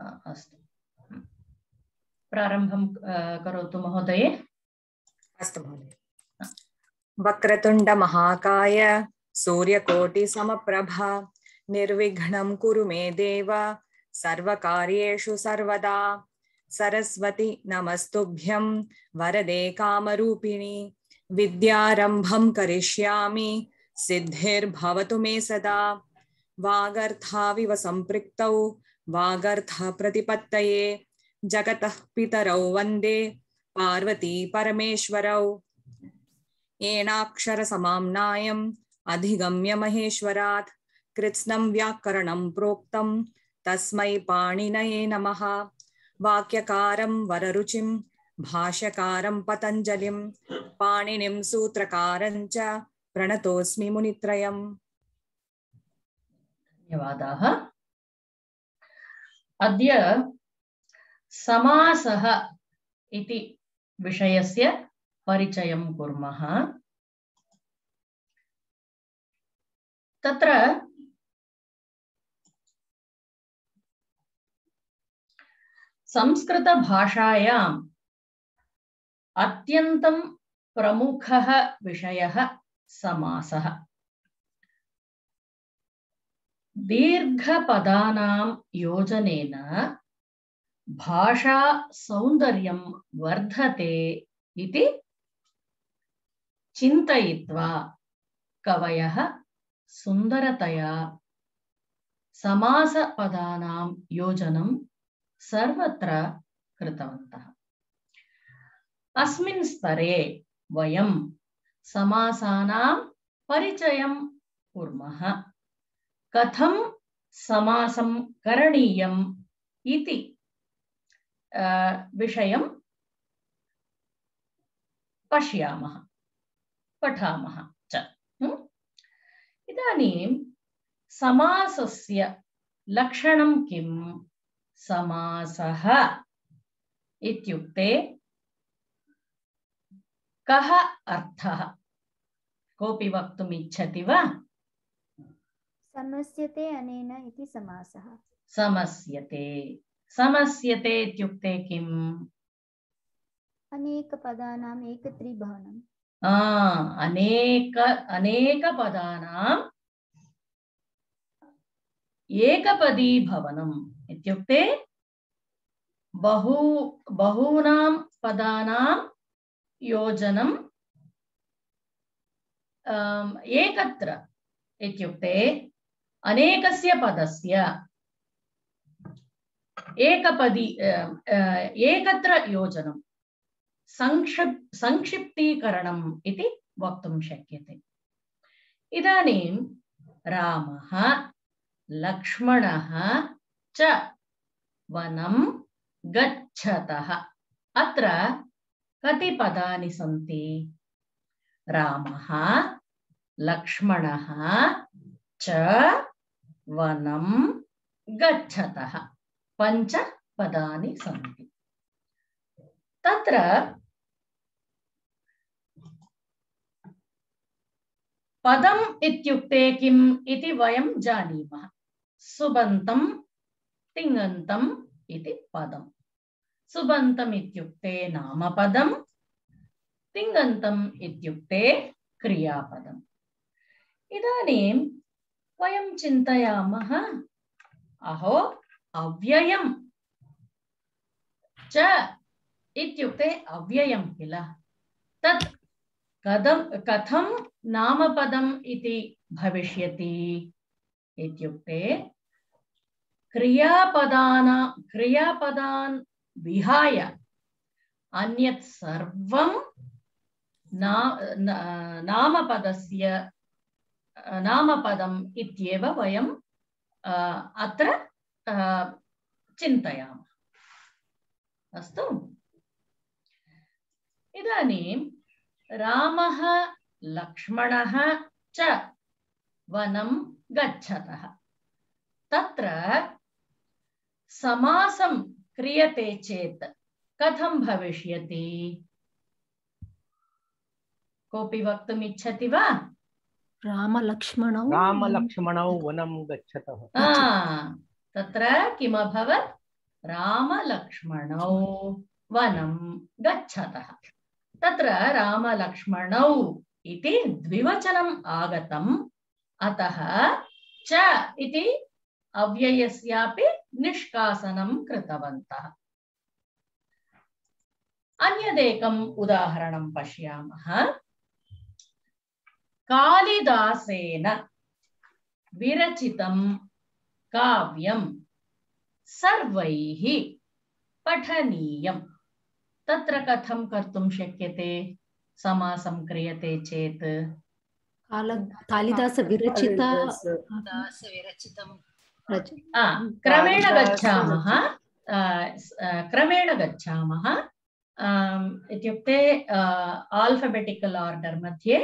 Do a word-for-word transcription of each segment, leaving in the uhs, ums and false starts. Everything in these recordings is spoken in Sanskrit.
अस्तु, प्रारम्भं करोतु महोदये। अस्तु महोदय। वक्रतुण्ड महाकाय सूर्यकोटि समप्रभा निर्विघ्नं कुरु मे देव सर्वकार्येषु सर्वदा। सरस्वती नमस्तुभ्यं वरदे कामरूपिणी विद्यारम्भं करिष्यामि सिद्धिर्भवतु मे सदा। वागर्थाविव सम्पृक्तौ वागर्थ प्रतिपत्तये जगतः पितरौ वन्दे पार्वती परमेश्वरौ। येनाक्षर समाम्नायम् अधिगम्य महेश्वरात् कृत्स्नं व्याकरणं प्रोक्तं तस्मै पाणिनये नमः। वाक्यकारं वररुचिं भाष्यकारं पतञ्जलिं पाणिनिं सूत्रकारं च प्रणतोऽस्मि मुनित्रयम्। धन्यवादाः। अद्य समासः इति विषयस्य परिचयं कुर्मः। तत्र संस्कृतभाषायाम् अत्यन्तं प्रमुखः विषयः समासः। दीर्घपदानां योजनेन भाषा सौन्दर्यं वर्धते इति चिन्तयित्वा कवयः सुन्दरतया समासपदानां योजनं सर्वत्र कृतवन्तः। अस्मिन् स्तरे वयं समासानां परिचयं कुर्मः। कथं समासं करणीयम् इति विषयं पश्यामः, पठामः च। इदानीं समासस्य लक्षणं किं? समासः इत्युक्ते कः अर्थः? कोऽपि वक्तुम् इच्छति वा? समस्यते अनेन इति समासः। समस्यते समस्यते इत्युक्ते किम्? अनेक पदानाम् एकत्रीभवनम्। अनेक अनेक पदानाम् एकपदी भवनम् इत्युक्ते बहु बहूनां पदानां योजनं एकत्र इत्युक्ते अनेकस्य पदस्य एकपदी एकत्र योजनं संक्षिप् संक्षिप्तीकरणम् इति वक्तुं शक्यते। इदानीं रामः लक्ष्मणः च वनं गच्छतः। अत्र कति पदानि सन्ति? रामः लक्ष्मणः च वनं गच्छतः, पञ्च पदानि सन्ति। तत्र पदम् इत्युक्ते किम् इति वयं जानीमः। सुबन्तं तिङन्तं इति पदम्। सुबन्तम् इत्युक्ते नामपदम्, तिङन्तम् इत्युक्ते क्रियापदम्। इदानीं वयं चिन्तयामः, अहो अव्ययं च इत्युक्ते अव्ययं किल, तत् कथं कथं नामपदम् इति भविष्यति इत्युक्ते क्रियापदाना क्रियापदान् विहाय अन्यत् सर्वं ना, ना, नामपदस्य नामपदम् इत्येव वयं अत्र चिन्तयामः। अस्तु, इदानीं रामः लक्ष्मणः च वनं गच्छतः। तत्र समासं क्रियते चेत् कथं भविष्यति? कोऽपि वक्तुम् इच्छति वा? रामलक्ष्मणौ रामलक्ष्मणौ वनं गच्छतः। तत्र किम् अभवत्? रामलक्ष्मणौ वनं गच्छतः। तत्र रामलक्ष्मणौ इति द्विवचनम् आगतम्, अतः च इति अव्ययस्यापि निष्कासनं कृतवन्तः। अन्यदेकम् उदाहरणं पश्यामः। कालिदासेन विरचितं काव्यं सर्वैः पठनीयम्। तत्र कथं कर्तुं शक्यते? समासं क्रियते चेत् कालिदास विरचित क्रमेण गच्छामः क्रमेण गच्छामः इत्युक्ते आल्फाबेटिकल आर्डर मध्ये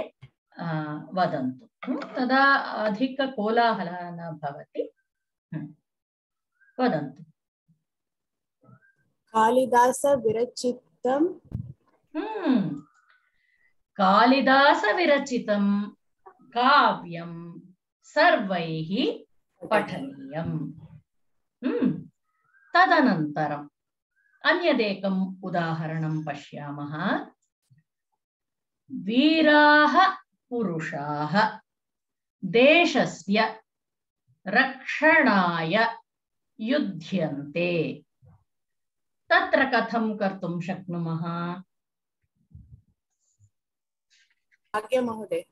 वदन्तु, तदा अधिक कोलाहलः न भवति। वदन्तु। कालिदास विरचितं कालिदास विरचितं काव्यं सर्वैः पठनीयम्। तदनन्तरम् अन्यदेकम् उदाहरणं पश्यामः। वीराः पुरुषाः देशस्य रक्षणाय युध्यन्ते। तत्र कथं कर्तुं शक्नुमः? आज्ञा महोदय।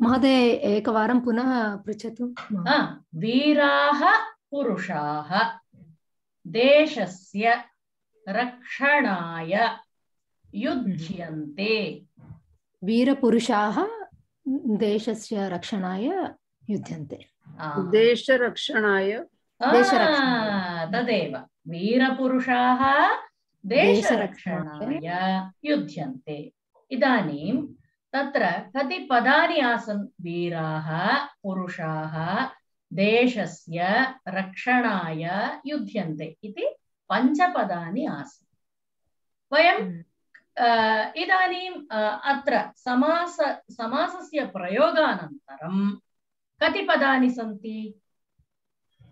महोदय एकवारं पुनः पृच्छतु। वीराः पुरुषाः देशस्य रक्षणाय युध्यन्ते। वीरपुरुषाः देशस्य रक्षणाय युध्यन्ते। देशरक्षणाय तदेव वीरपुरुषाः देशरक्षणाय युध्यन्ते। इदानीं तत्र कति पदानि आसन्? वीराः पुरुषाः देशस्य रक्षणाय युध्यन्ते इति पञ्चपदानि आसन्। वयं इदानीं अत्र समास समासस्य प्रयोगानन्तरं कति पदानि सन्ति?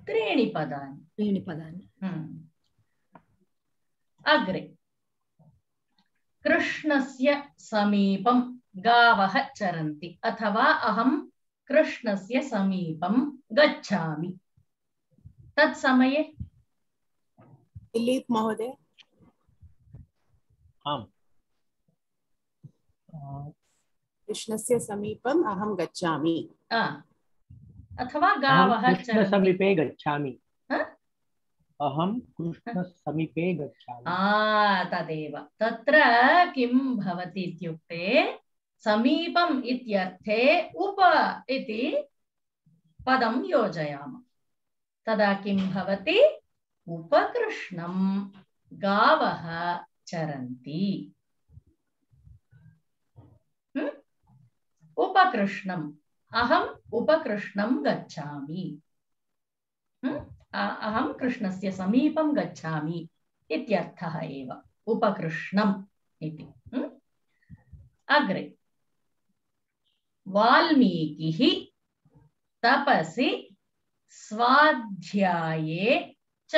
त्रीणि पदानि। त्रीणि पदानि। अग्रे कृष्णस्य समीपं गावः चरन्ति, अथवा अहं कृष्णस्य समीपं गच्छामि। तत्समये दिलीप महोदय। आम्। कृष्णस्य समीपम् अहं गच्छामि, अथवा गावः चरन्ति। समीपे गच्छामि। अहं कृष्ण समीपे गच्छामि। तदेव। तत्र किं भवति इत्युक्ते समीपम् इत्यर्थे उप इति पदं योजयामः। तदा किं भवति? उपकृष्णं गावः चरन्ति। उपकृष्णम्, अहम् उपकृष्णं गच्छामि। अहं कृष्णस्य समीपं गच्छामि इत्यर्थः एव उपकृष्णम् इति। अग्रे वाल्मीकिः तपसि स्वाध्याये च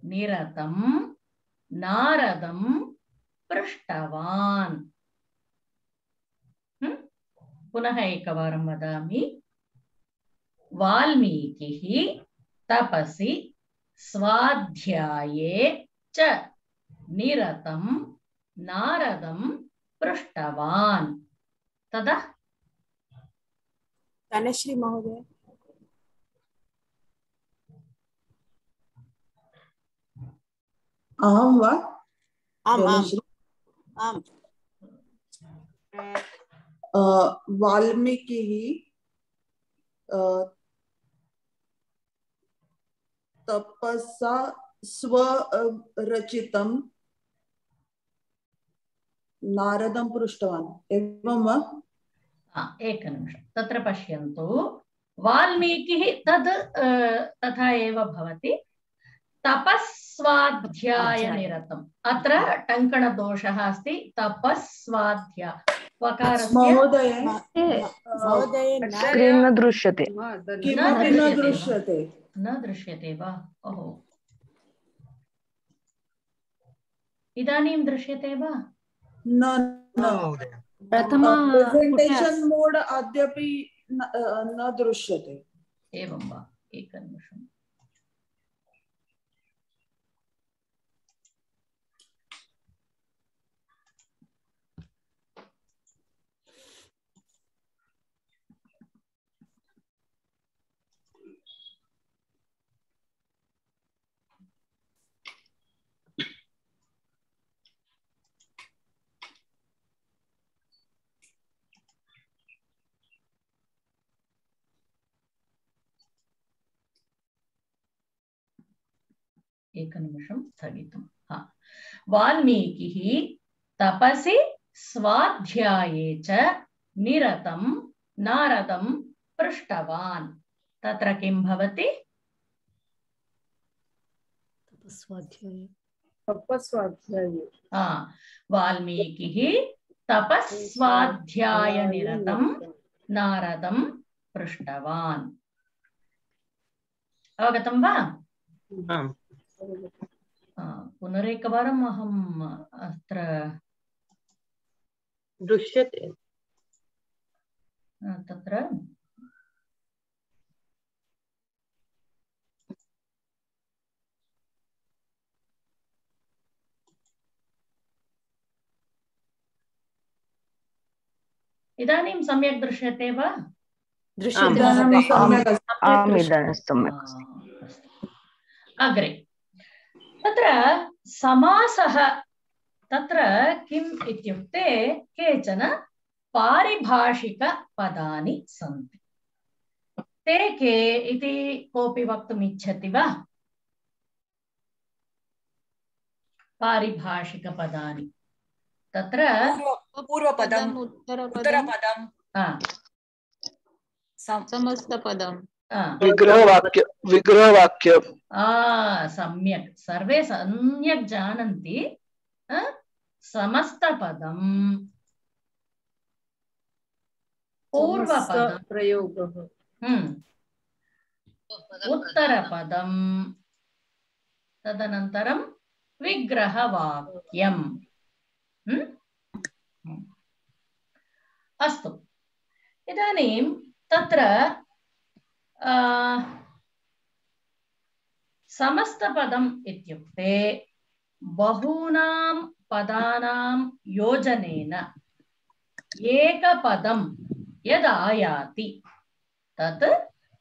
निरतं नारदं पृष्टवान्। पुनः एकवारं वदामि। वाल्मीकिः तपसि स्वाध्याये च निरतं नारदं पृष्टवान्। तदा तनश्री महोदय। अहं वा? आम् आम् आम्। वाल्मीकिः तपसा स्वरचितं नारदं पृष्टवान्, एवं वा? एकनिमिषं, तत्र पश्यन्तु। वाल्मीकिः तद् तथा एव भवति। तपस्वाध्यायनिरतम्, अत्र टङ्कणदोषः अस्ति। तपस्वाध्याय महोदय महोदय स्क्रीन् न दृश्यते। किमपि न दृश्यते। न दृश्यते वा? ओहो, इदानीं दृश्यते वा? न न प्रथम प्रेजेंटेशन मोड अद्यापि न अ, न दृश्यते। एवं वा? एकनिमिषम्। एकनिमिषं स्थगितम्। हा, वाल्मीकिः तपसि स्वाध्याये च निरतं नारदं पृष्टवान्। तत्र किं भवति? तपस्वाध्याये तपस्वाध्याये हा, वाल्मीकिः तपस्वाध्याय निरतं नारदं पृष्टवान्। अवगतं वा? आम्। पुनरेकवारम् अहम् अत्र दृश्यते तत्र इदानीं सम्यक् दृश्यते वा? दृश्यते इदानीं सम्यक् अस्ति। आम्, इदानीं सम्यक् अस्ति। अग्रे तत्र समासः तत्र किम् इत्युक्ते केचन पारिभाषिकपदानि सन्ति। ते के इति कोऽपि वक्तुम् इच्छति वा? पारिभाषिकपदानि तत्र पूर्वपदम्, उत्तरपदम्, समस्तपदम्, विग्रहवाक्य विग्रहवाक्य सम्यक्, सर्वे सम्यक् जानन्ति। समस्तपदम्, पूर्वपदम्, प्रयोगः, उत्तरपदम्, तदनन्तरं विग्रहवाक्यम्। अस्तु, इदानीं तत्र समस्तपदम् इत्युक्ते बहूनां पदानां योजनेन एकपदं यदायाति तत्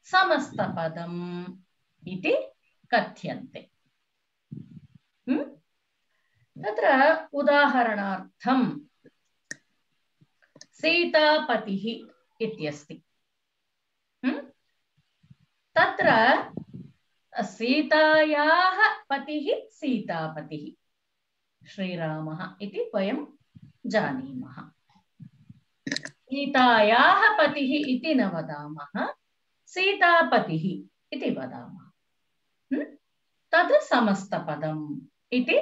समस्तपदम् इति कथ्यन्ते। तत्र उदाहरणार्थं सीतापतिः इत्यस्ति। तत्र सीतायाः पतिः सीतापतिः श्रीरामः इति वयं जानीमः। सीतायाः पतिः इति न वदामः, सीतापतिः इति वदामः। तद् समस्तपदम् इति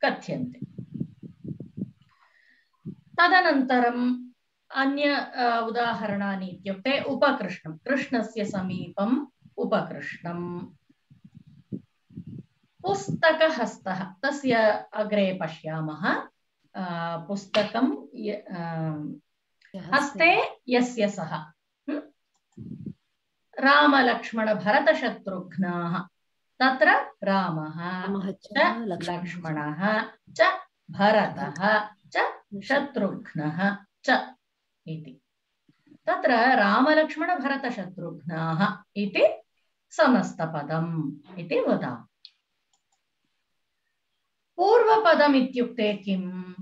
कथ्यन्ते। तदनन्तरम् अन्य उदाहरणानि इत्युक्ते उपकृष्णं, कृष्णस्य समीपम् उपकृष्णम्। पुस्तकहस्तः, तस्य अग्रे पश्यामः। पुस्तकं हस्ते यस्य सः। रामलक्ष्मणभरतशत्रुघ्नाः, तत्र रामः च लक्ष्मणः च भरतः च शत्रुघ्नः च इति। तत्र रामलक्ष्मणभरतशत्रुघ्नाः इति समस्तपदम् इति वदामः। पूर्वपदम् इत्युक्ते किम्?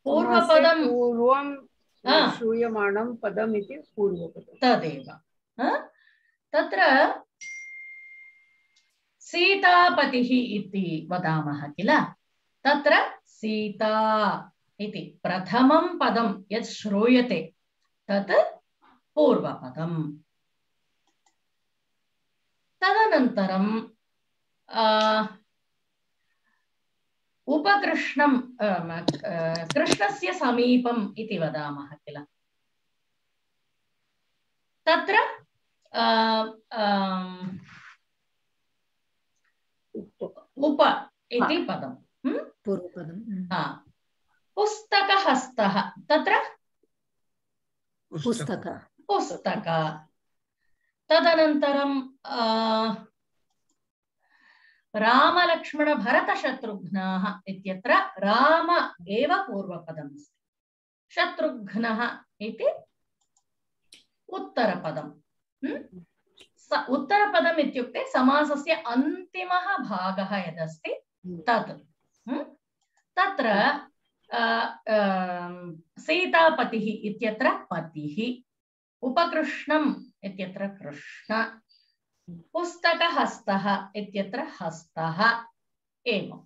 पूर्वपदं पूर्वं श्रूयमाणं पदम् इति पूर्वपदम्। तदेव। तत्र सीतापतिः इति वदामः किल, तत्र सीता इति प्रथमं पदं यत् श्रूयते तत् पूर्वपदम्। तदनन्तरं उपकृष्णं कृष्णस्य समीपम् इति वदामः किल तत्र उप इति पदं पूर्वपदं पुस्तकहस्तः तत्र पुस्तक पुस्तक तदनन्तरं रामलक्ष्मणभरतशत्रुघ्नाः इत्यत्र राम एव पूर्वपदम् अस्ति शत्रुघ्नः इति उत्तरपदम् उत्तरपदम् इत्युक्ते समासस्य अन्तिमः भागः यदस्ति तत् तत्र सीतापतिः इत्यत्र पतिः उपकृष्णम् इत्यत्र कृष्ण पुस्तकहस्तः इत्यत्र हस्तः एवम्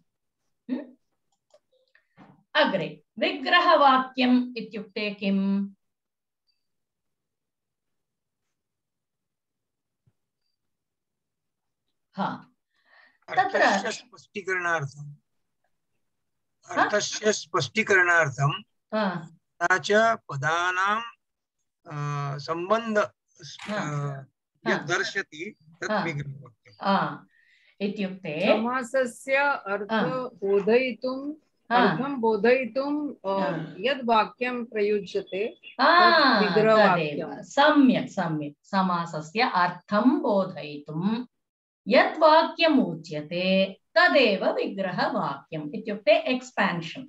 अग्रे विग्रहवाक्यम् इत्युक्ते किम् हा तत्र स्पष्टीकरणार्थम् अर्थस्य स्पष्टीकरणार्थं च पदानां सम्बन्ध दर्शति तत् विग्रहवाक्यम् इत्युक्ते समासस्य अर्थ बोधयितुं अर्थं बोधयितुं यद् वाक्यं प्रयुज्यते तत् विग्रहवाक्यं सम्यक् सम्यक् समासस्य अर्थं बोधयितुं यत् वाक्यम् उच्यते तदेव विग्रहवाक्यम् इत्युक्ते एक्सपेन्शन्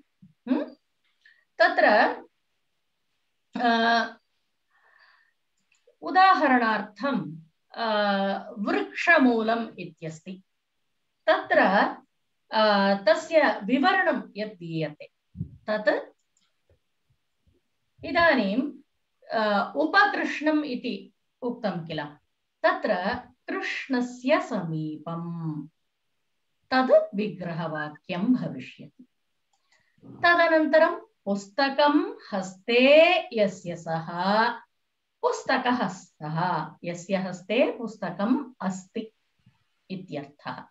तत्र उदाहरणार्थं वृक्षमूलम् इत्यस्ति तत्र तस्य विवरणं यत् दीयते तत् इदानीं उपकृष्णम् इति उक्तं किल तत्र कृष्णस्य समीपम् तद् विग्रहवाक्यं भविष्यति तदनन्तरं पुस्तकं हस्ते यस्य सः पुस्तकहस्तः यस्य हस्ते पुस्तकम् अस्ति इत्यर्थः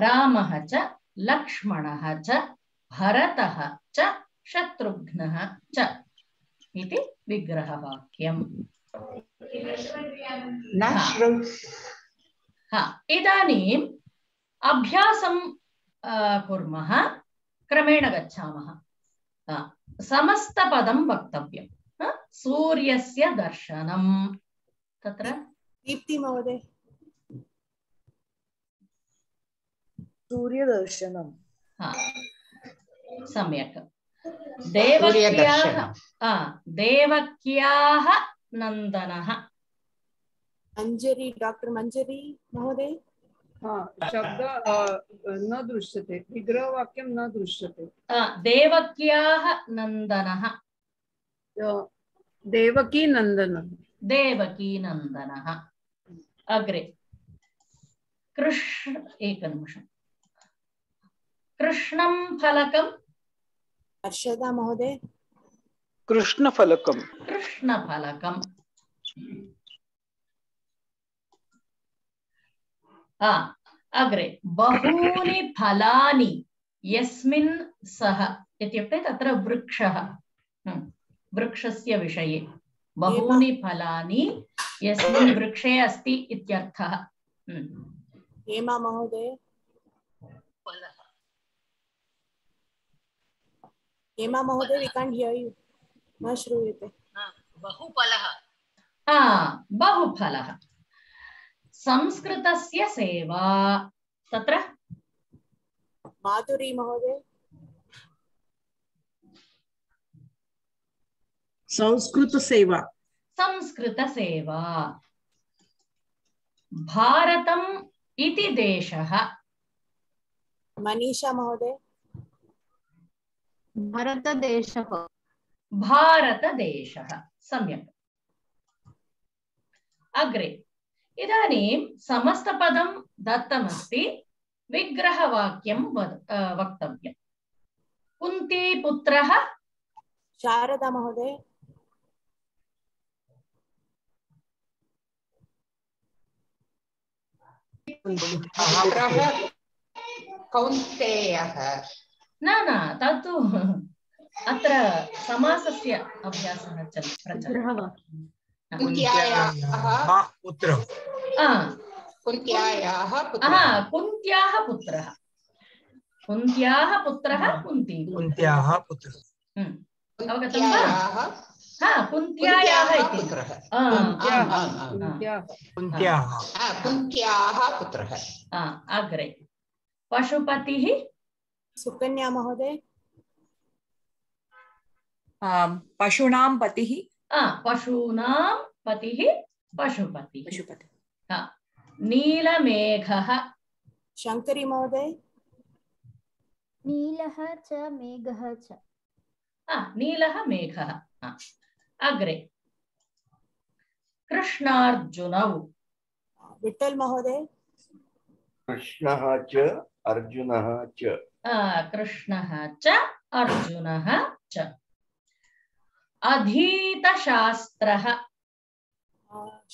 रामः च लक्ष्मणः च भरतः च शत्रुघ्नः च इति विग्रहवाक्यम् हा इदानीम् अभ्यासं कुर्मः क्रमेण गच्छामः समस्तपदं वक्तव्यं सूर्यस्य दर्शनं तत्र दीप्ति महोदय सूर्यदर्शनं हा सम्यक् देवक्याः देवक्याः नन्दनः मंजरी डॉक्टर मंजरी महोदय हाँ शब्द न दृश्यते विग्रहवाक्यं न दृश्यते देवक्याः नन्दनः देवकी नन्दनः देवकी नन्दनः अग्रे कृष्ण एकनिमिषम् कृष्णं फलकं हर्षदा महोदय कृष्णफलकं कृष्णफलकं आ अग्रे बहूनि फलानि यस्मिन् सः इत्युक्ते तत्र वृक्षः वृक्षस्य विषये बहूनि फलानि यस्मिन् वृक्षे अस्ति इत्यर्थः हेमा महोदय हेमा महोदय वी कांट हियर यू न श्रूयते बहुफलः हा बहुफलः संस्कृतस्य सेवा तत्र माधुरी महोदय संस्कृत सेवा संस्कृत सेवा भारतम् इति देशः मनीषा महोदय भारतदेशः भारतदेशः सम्यक् अग्रे इदानीं समस्तपदं दत्तमस्ति विग्रहवाक्यं वक्तव्यम् कुन्तीपुत्रः शारदा महोदय कौन्तेयः न न तत्तु अत्र समासस्य अभ्यासः चल प्रचलति कुन्त्यायाः पुत्रः कुन्त्यायाः पुत्रः कुन्त्याः पुत्रः कुन्त्याः पुत्रः कुन्ती कुन्त्याः पुत्रः अवगतं वा हा कुन्त्यायाः इति पुत्रः कुन्त्याः कुन्त्याः पुत्रः अग्रे पशुपतिः सुकन्या महोदय पशूनां पतिः पशूनां पतिः पशुपतिः पशुपति नीलमेघः शंकरी महोदय नीलः च मेघः च नीलः मेघः अग्रे कृष्णार्जुनौ विठ्ठल महोदय कृष्णः च अर्जुनः च कृष्णः च अर्जुनः च अधीतशास्त्रः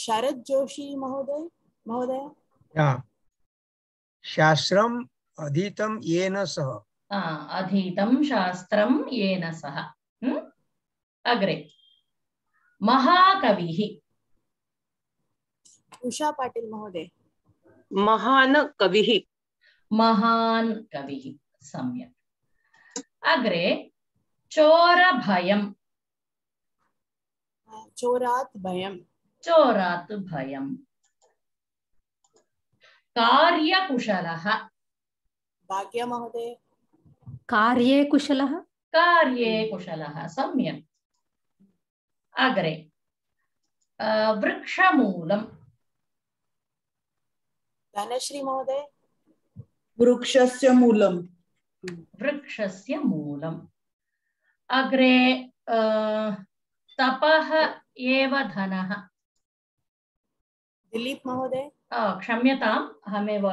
शरद जोशी महोदय महोदय शास्त्रम् अधीतं येन सह अधीतं शास्त्रं येन सह अग्रे महाकविः उषा पाटिल महोदय महान कविः महान कविः सम्यक् अग्रे चोरभयम् चोरात् भयम् चोरात् भयम् कार्यकुशलः भाग्य महोदय कार्ये कुशलः कार्ये कुशलः सम्यक् अग्रे वृक्षमूलम् धनश्री महोदय वृक्षस्य मूलम् वृक्षस्य मूलम् अग्रे तपः एव धनः दिलीप महोदय क्षम्यताम् अहमेव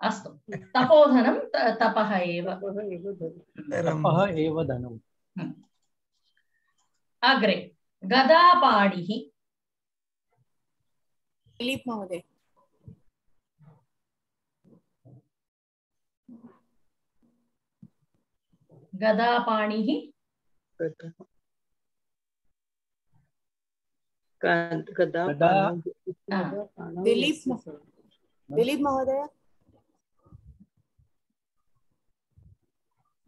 अस्तु तपोधनं तपः एव तपः एव धनम् अग्रे गदापाणिः दिलीप महोदय गदापाणिः गदा दिलीप दिलीप महोदय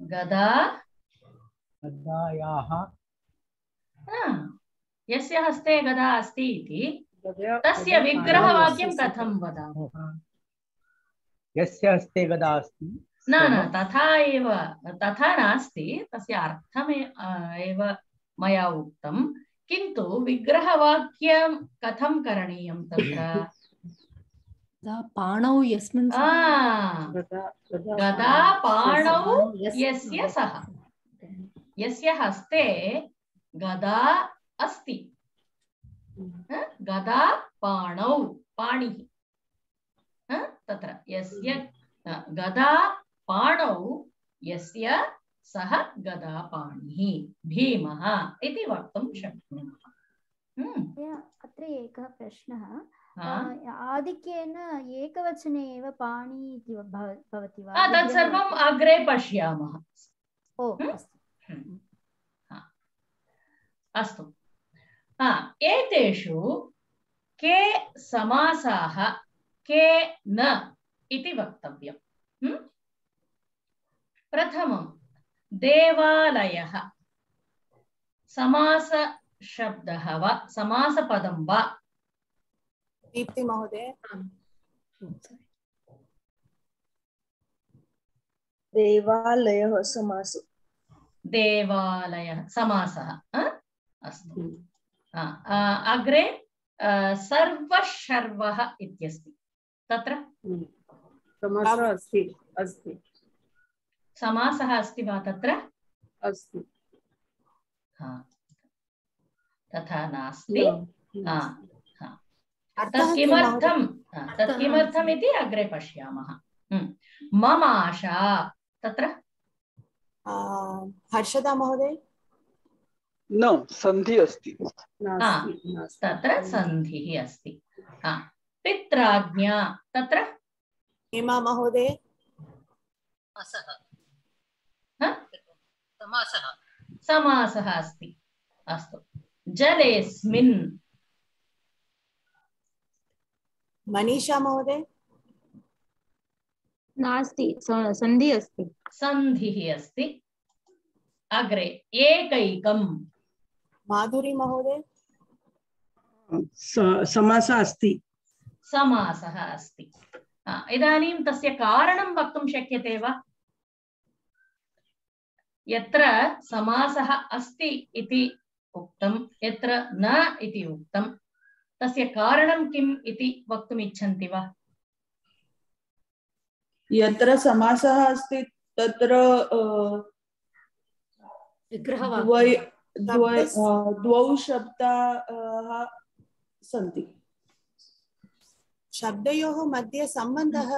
गदा गदायाः यस्य हस्ते गदा अस्ति इति तस्य विग्रहवाक्यं कथं वदामः यस्य हस्ते गदा अस्ति न न तथा एव तथा नास्ति तस्य अर्थमे एव मया उक्तं किन्तु विग्रहवाक्यं कथं करणीयं तत्र पाणौ यस्मिन् गदा पाणौ यस्य सः यस्य हस्ते गदा अस्ति गदा पाणौ पाणिः तत्र यस्य गदा पाणौ यस्य सः गदापाणिः भीमः इति वक्तुं शक्नुमः। अत्र एकः प्रश्नः आधिक्येन एकवचने एव पाणि इति भवति वा तत् सर्वम् अग्रे पश्यामः। ओ अस्तु एतेषु के समासाः के न इति वक्तव्यम्। प्रथमं देवालयः समास शब्दः वा समासपदं वा? दीप्ति महोदय देवालयः समास देवालयः समासः अस्तु। अग्रे सर्वशर्वः इत्यस्ति तत्र समासः अस्ति अस्ति समासः अस्ति वा तत्र? अस्ति तथा नास्ति। तत् किमर्थं तत् किमर्थम् इति अग्रे पश्यामः। मम आशा तत्र हर्षदा महोदय न संधि अस्ति तत्र संधिः अस्ति। पित्राज्ञा तत्र हेमा महोदय समासः समासः अस्ति। अस्तु जलेस्मिन् मनीषा महोदय नास्ति सन्धि अस्ति सन्धिः अस्ति। अग्रे एकैकं माधुरी महोदय समासः अस्ति समासः अस्ति। इदानीं तस्य कारणं वक्तुं शक्यते वा? यत्र समासः अस्ति इति उक्तं यत्र न इति उक्तं तस्य कारणं किम् इति वक्तुम् इच्छन्ति वा? यत्र समासः अस्ति तत्र द्वौ शब्दाः सन्ति। शब्दयोः मध्ये सम्बन्धः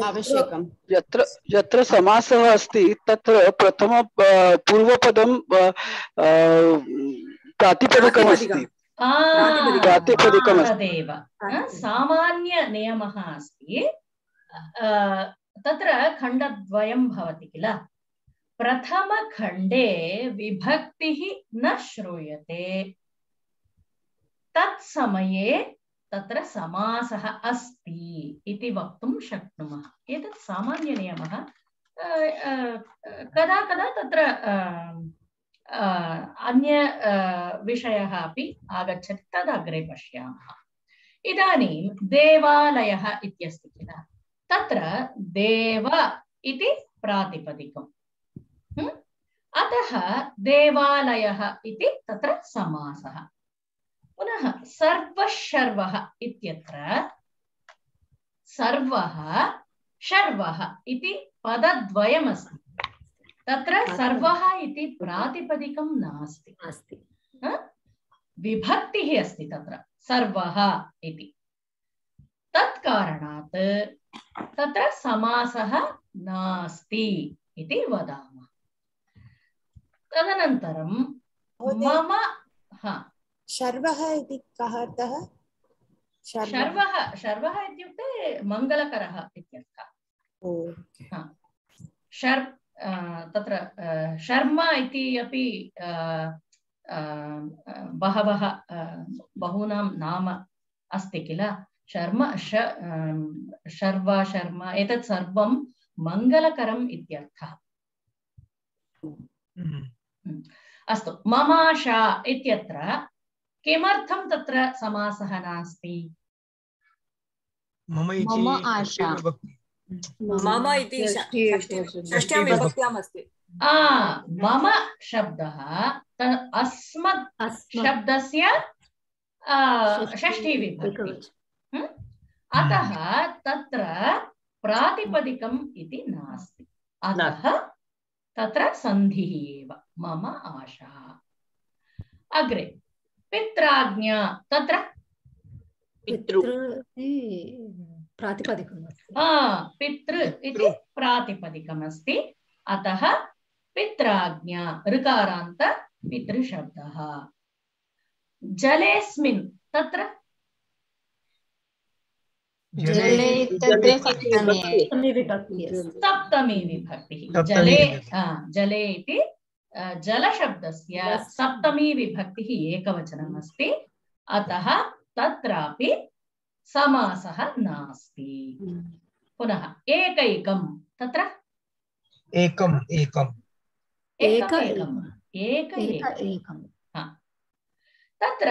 आवश्यकम्। यत्र यत्र समासः अस्ति तत्र प्रथम पूर्वपदं प्रातिपदिकमस्ति। तदेव सामान्य नियमः अस्ति। तत्र खण्डद्वयं भवति किल। प्रथमखण्डे विभक्तिः न श्रूयते तत्समये तत्र समासः अस्ति इति वक्तुं शक्नुमः। एतत् सामान्य नियमः। कदा कदा तत्र अन्य विषयः अपि आगच्छति तदग्रे पश्यामः। इदानीं देवालयः इत्यस्ति किल। तत्र देव इति प्रातिपदिकम्। अतः देवालयः इति तत्र समासः। पुनः सर्वशर्वः इत्यत्र सर्वः शर्वः इति पदद्वयमस्ति। तत्र सर्वः इति प्रातिपदिकं नास्ति अस्ति विभक्तिः अस्ति तत्र सर्वः इति। तत्कारणात् तत्र समासः नास्ति इति वदामः। तदनन्तरं मम हा शर्वः इति कः अर्थः? शर्वः शर्वः इत्युक्ते मङ्गलकरः इत्यर्थः। शर् तत्र शर्म इति अपि बहवः बहूनां नाम अस्ति किल। शर्म शर्व शर्म एतत् सर्वं मङ्गलकरम् इत्यर्थः। अस्तु ममाशा इत्यत्र किमर्थं तत्र समासः नास्ति? मम आशा मम इति षष्ट्यां विभक्त्याम् अस्ति। मम शब्दः अस्मत् शब्दस्य षष्ठी विभक्ति। अतः तत्र प्रातिपदिकम् इति नास्ति। अतः तत्र सन्धिः एव मम आशा। अग्रे पित्राज्ञा तत्र पितृ प्रातिपदिकम् अस्ति। पितृ इति प्रातिपदिकमस्ति। अतः पित्राज्ञा ऋकारान्त पितृशब्दः। जलेस्मिन् तत्र सप्तमी विभक्तिः। जले जले इति जलशब्दस्य सप्तमी विभक्तिः एकवचनम् अस्ति। अतः तत्रापि समासः नास्ति। पुनः एकैकं तत्र एकम् एकम् एकैकम् एक एकम् तत्र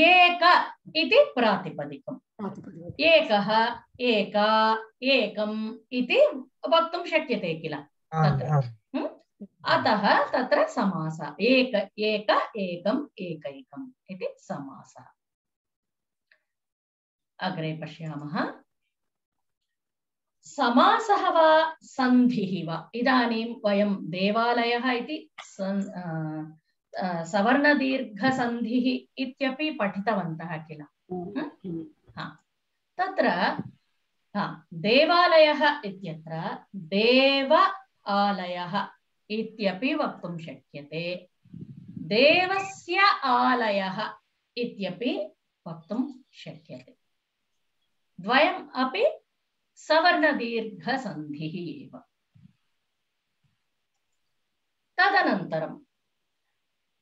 एक इति प्रातिपदिकम्। एकः एका एकम् इति वक्तुं शक्यते किल तत्र। अतः तत्र समासः एक एक एकम् एकैकम् इति समासः। अग्रे पश्यामः। समासः वा सन्धिः वा। इदानीं वयं देवालयः इति सवर्णदीर्घसन्धिः इत्यपि पठितवन्तः किल। तत्र देवालयः इत्यत्र देव आलयः इत्यपि वक्तुं शक्यते। देवस्य आलयः इत्यपि वक्तुं शक्यते। द्वयम् अपि सवर्णदीर्घसन्धिः एव। तदनन्तरं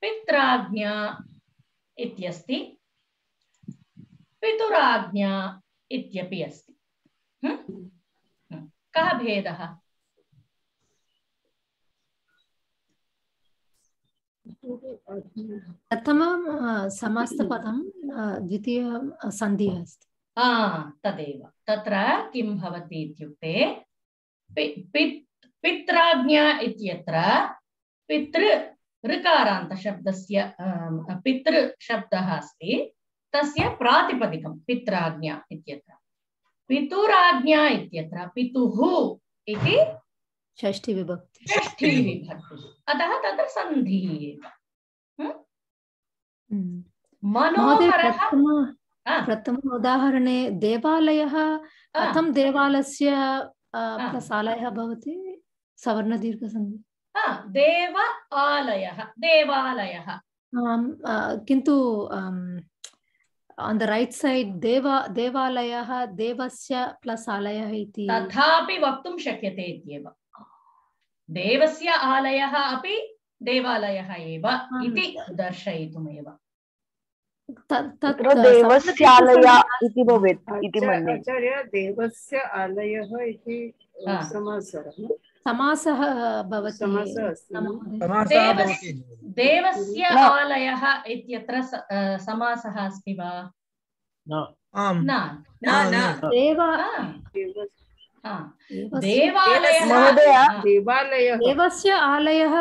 पित्राज्ञा इत्यस्ति, पितुराज्ञा इत्यपि अस्ति। कः भेदः? प्रथमं समास्तपदं, द्वितीयं सन्धिः अस्ति। आ तदेव। तत्र किं भवति इत्युक्ते पि, पि, पित्राज्ञा इत्यत्र पितृ ऋकारान्त शब्दस्य पितृ शब्दः अस्ति, तस्य प्रातिपदिकं पित्राज्ञा इत्यत्र। पितुराज्ञा इत्यत्र पितुः इति षष्ठी विभक्ति षष्ठी विभक्तिः, अतः तत्र सन्धिः एव। मनोहरः प्रथम उदाहरणे देवालयः कथं देवालयस्य प्लस् आलयः भवति? सवर्णदीर्घसन्धि। देव आलयः, देवालयः, किन्तु on the right side देवा देवालयः देवस्य प्लस् आलयः इति तथापि वक्तुं शक्यते इत्येव। देवस्य आलयः अपि देवालयः एव इति दर्शयितुमेव। तत्र देवस्यालय इति भवेत् इति मन्ये। आचार्य, देवस्य आलयः इति समासः समासः भवति। देवस्य आलयः इत्यत्र समासः अस्ति वा? न न न देव देवालयः देवस्य आलयः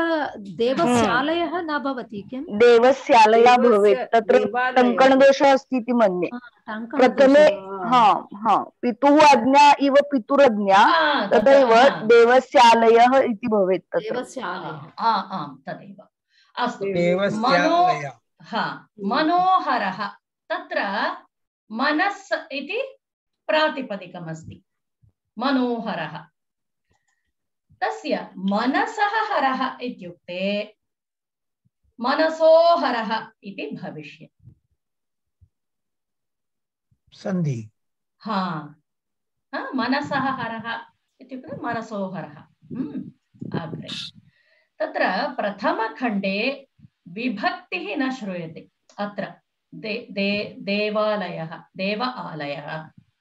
देवस्य आलयः न भवति किं? देवस्यालयः भवेत्। तत्र टङ्कणदोषः अस्ति इति मन्ये। प्रथमे हा हा पितुः आज्ञा इव पितुरज्ञा, तथैव देवस्यालयः इति भवेत्। देवस्यालयः आम् तदेव। अस्तु, मनोहरः, तत्र मनस् इति प्रातिपदिकमस्ति। मनोहरः, तस्य मनसः हरः इत्युक्ते मनसोहरः इति भविष्यति। सन्धि। हा मनसः हरः इत्युक्ते मनसोहरः। अग्रे तत्र प्रथमखण्डे विभक्तिः न श्रूयते। अत्र दे, दे, देवालयः, देव आलयः,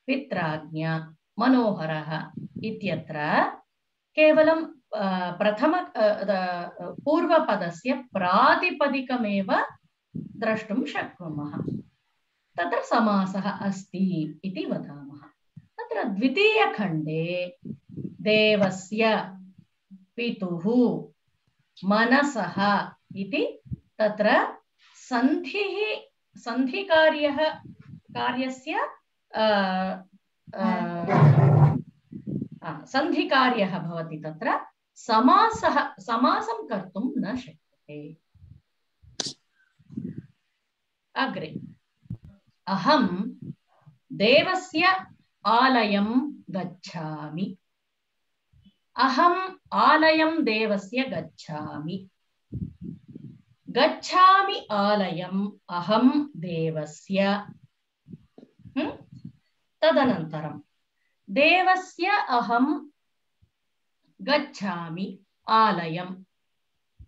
पित्राज्ञा, मनोहरः इत्यत्र केवलं प्रथम पूर्वपदस्य प्रातिपदिकमेव द्रष्टुं शक्नुमः। तत्र समासः अस्ति इति वदामः। तत्र द्वितीयखण्डे देवस्य, पितुः, मनसः इति तत्र सन्धिः सन्धिकार्यः कार्यस्य सन्धिकार्यः भवति। तत्र समासः समासं कर्तुं न शक्यते। अग्रे अहं देवस्य आलयं गच्छामि। अहम् आलयं देवस्य गच्छामि। गच्छामि आलयम् अहं देवस्य। तदनन्तरं देवस्य अहं गच्छामि आलयम्।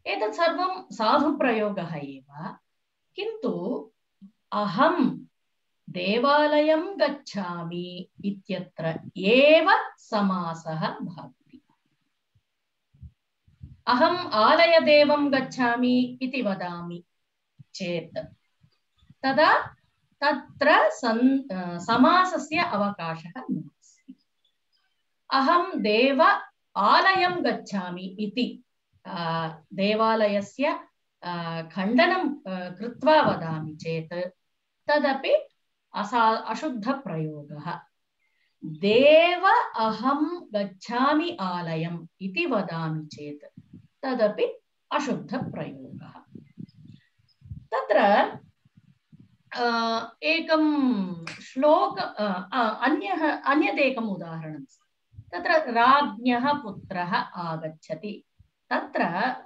एतत् सर्वं साधुप्रयोगः एव, किन्तु अहं देवालयं गच्छामि इत्यत्र एव समासः भवति। अहम् आलयदेवं गच्छामि इति वदामि चेत् तदा तत्र समासस्य अवकाशः नास्ति। अहं देव आलयं गच्छामि इति देवालयस्य खण्डनं कृत्वा वदामि चेत् तदपि असा अशुद्धप्रयोगः। देव अहं गच्छामि आलयम् इति वदामि चेत् तदपि अशुद्धप्रयोगः। तत्र एकं श्लोक अन्यः अन्यदेकम् उदाहरणं। तत्र राज्ञः पुत्रः आगच्छति। तत्र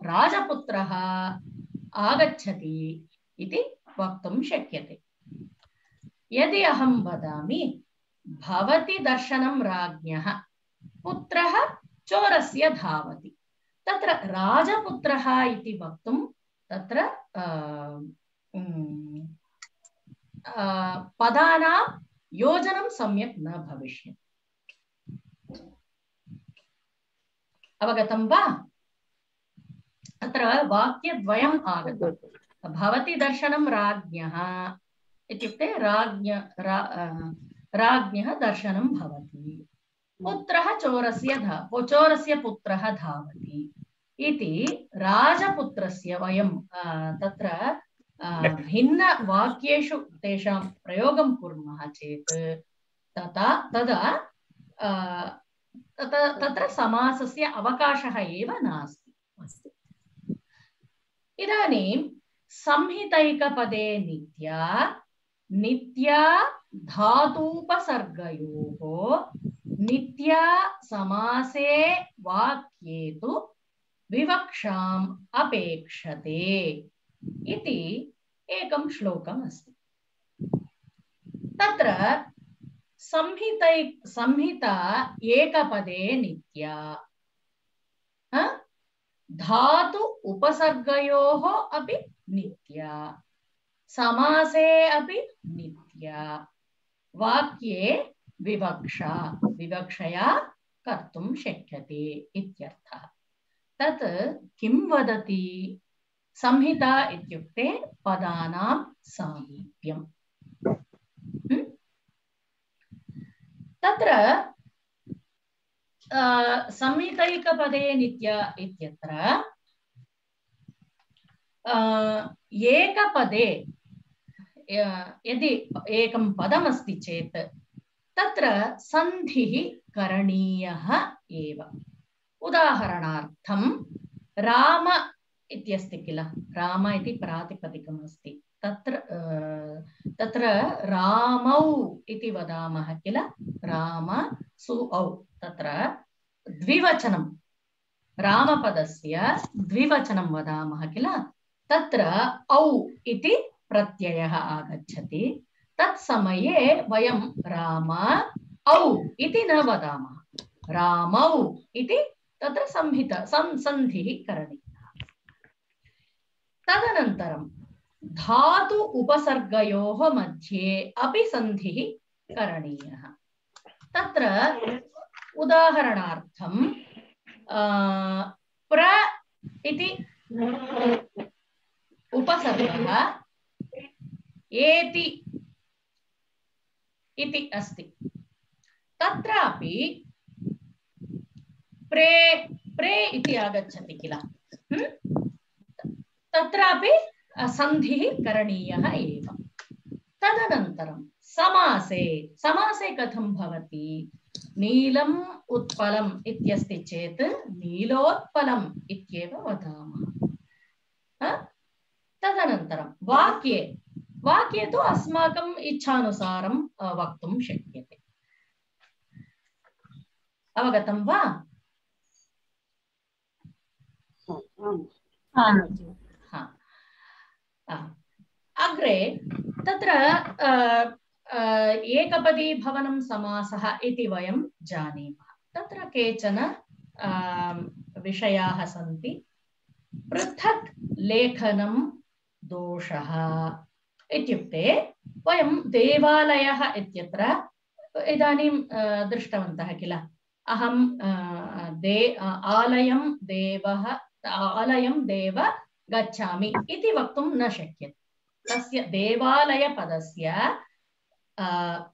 राजपुत्रः आगच्छति इति वक्तुं शक्यते। यदि अहं वदामि भवति दर्शनं राज्ञः पुत्रः चोरस्य धावति तत्र राजपुत्रः इति वक्तुं तत्र पदानां योजनं सम्यक् न भविष्यति अवगतं वा अत्र वाक्यद्वयम् आगतं भवति दर्शनं राज्ञः इत्युक्ते राज्ञ राज्ञः दर्शनं भवति पुत्रः चोरस्य धा चोरस्य पुत्रः धावति इति राजपुत्रस्य वयं तत्र भिन्न वाक्येषु तेषां प्रयोगं कुर्मः चेत् तथा तदा तत्र समासस्य अवकाशः एव नास्ति अस्ति इदानीं संहितैकपदे नित्या नित्या धातूपसर्गयोः नित्या समासे वाक्ये तु विवक्षाम् अपेक्षते इति एकं श्लोकम् अस्ति तत्र संहितै संहिता एकपदे नित्या धातु उपसर्गयोः अपि नित्या समासे अपि नित्या वाक्ये विवक्षा विवक्षया कर्तुं शक्यते इत्यर्थः तत् किं वदति संहिता इत्युक्ते पदानां सामीप्यम् तत्र संहितैकपदे नित्या इत्यत्र एकपदे यदि एकं पदमस्ति चेत् तत्र सन्धिः करणीयः एव उदाहरणार्थं राम इत्यस्ति किल राम इति प्रातिपदिकम् अस्ति तत्र तत्र रामौ इति वदामः किल राम सु औ तत्र द्विवचनं रामपदस्य द्विवचनं वदामः किल तत्र औ इति प्रत्ययः आगच्छति तत्समये वयं राम औ इति न वदामः रामौ इति तत्र संहिता संधिः करणीयः तदनन्तरं धातु उपसर्गयोः मध्ये अपि संधिः करणीयः तत्र उदाहरणार्थं प्र इति उपसर्गः एति इति अस्ति तत्रापि प्रे प्रे इति आगच्छति किल तत्रापि संधिः करणीयः एव तदनन्तरं समासे समासे कथं भवति नीलम् उत्पलम् इत्यस्ति चेत् नीलोत्पलम् इत्येव वदामः तदनन्तरं वाक्ये वाक्ये तु अस्माकम् इच्छानुसारं वक्तुं शक्यते अवगतं वा अग्रे तत्र एकपदी भवनं समासः इति वयं जानीमः तत्र केचन विषयाः सन्ति पृथक् लेखनं दोषः इत्युक्ते वयं देवालयः इत्यत्र इदानीं दृष्टवन्तः किल अहं दे आलयं देवः आलयं देव गच्छामि इति वक्तुं न शक्यते तस्य देवालयपदस्य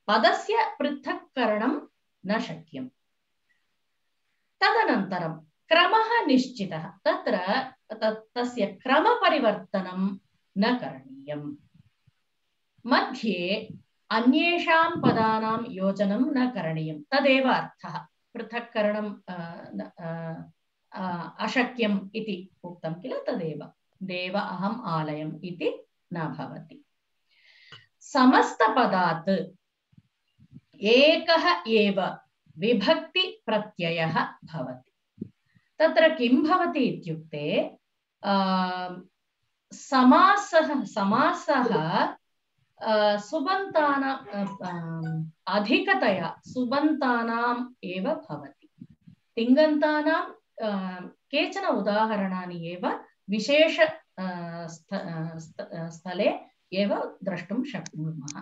पदस्य पृथक्करणं न शक्यं तदनन्तरं क्रमः निश्चितः तत्र तस्य क्रमपरिवर्तनं न करणीयम् मध्ये अन्येषां पदानां योजनं न करणीयं तदेव अर्थः पृथक्करणं अशक्यम् इति उक्तं किल तदेव देव अहम् आलयम् इति न भवति समस्तपदात् एकः एव विभक्ति प्रत्ययः भवति तत्र किं भवति इत्युक्ते समासः समासः सुबन्तानां अधिकतया सुबन्तानाम् एव भवति। तिङन्तानां केचन उदाहरणानि एव विशेष स्थले एव द्रष्टुं शक्नुमः।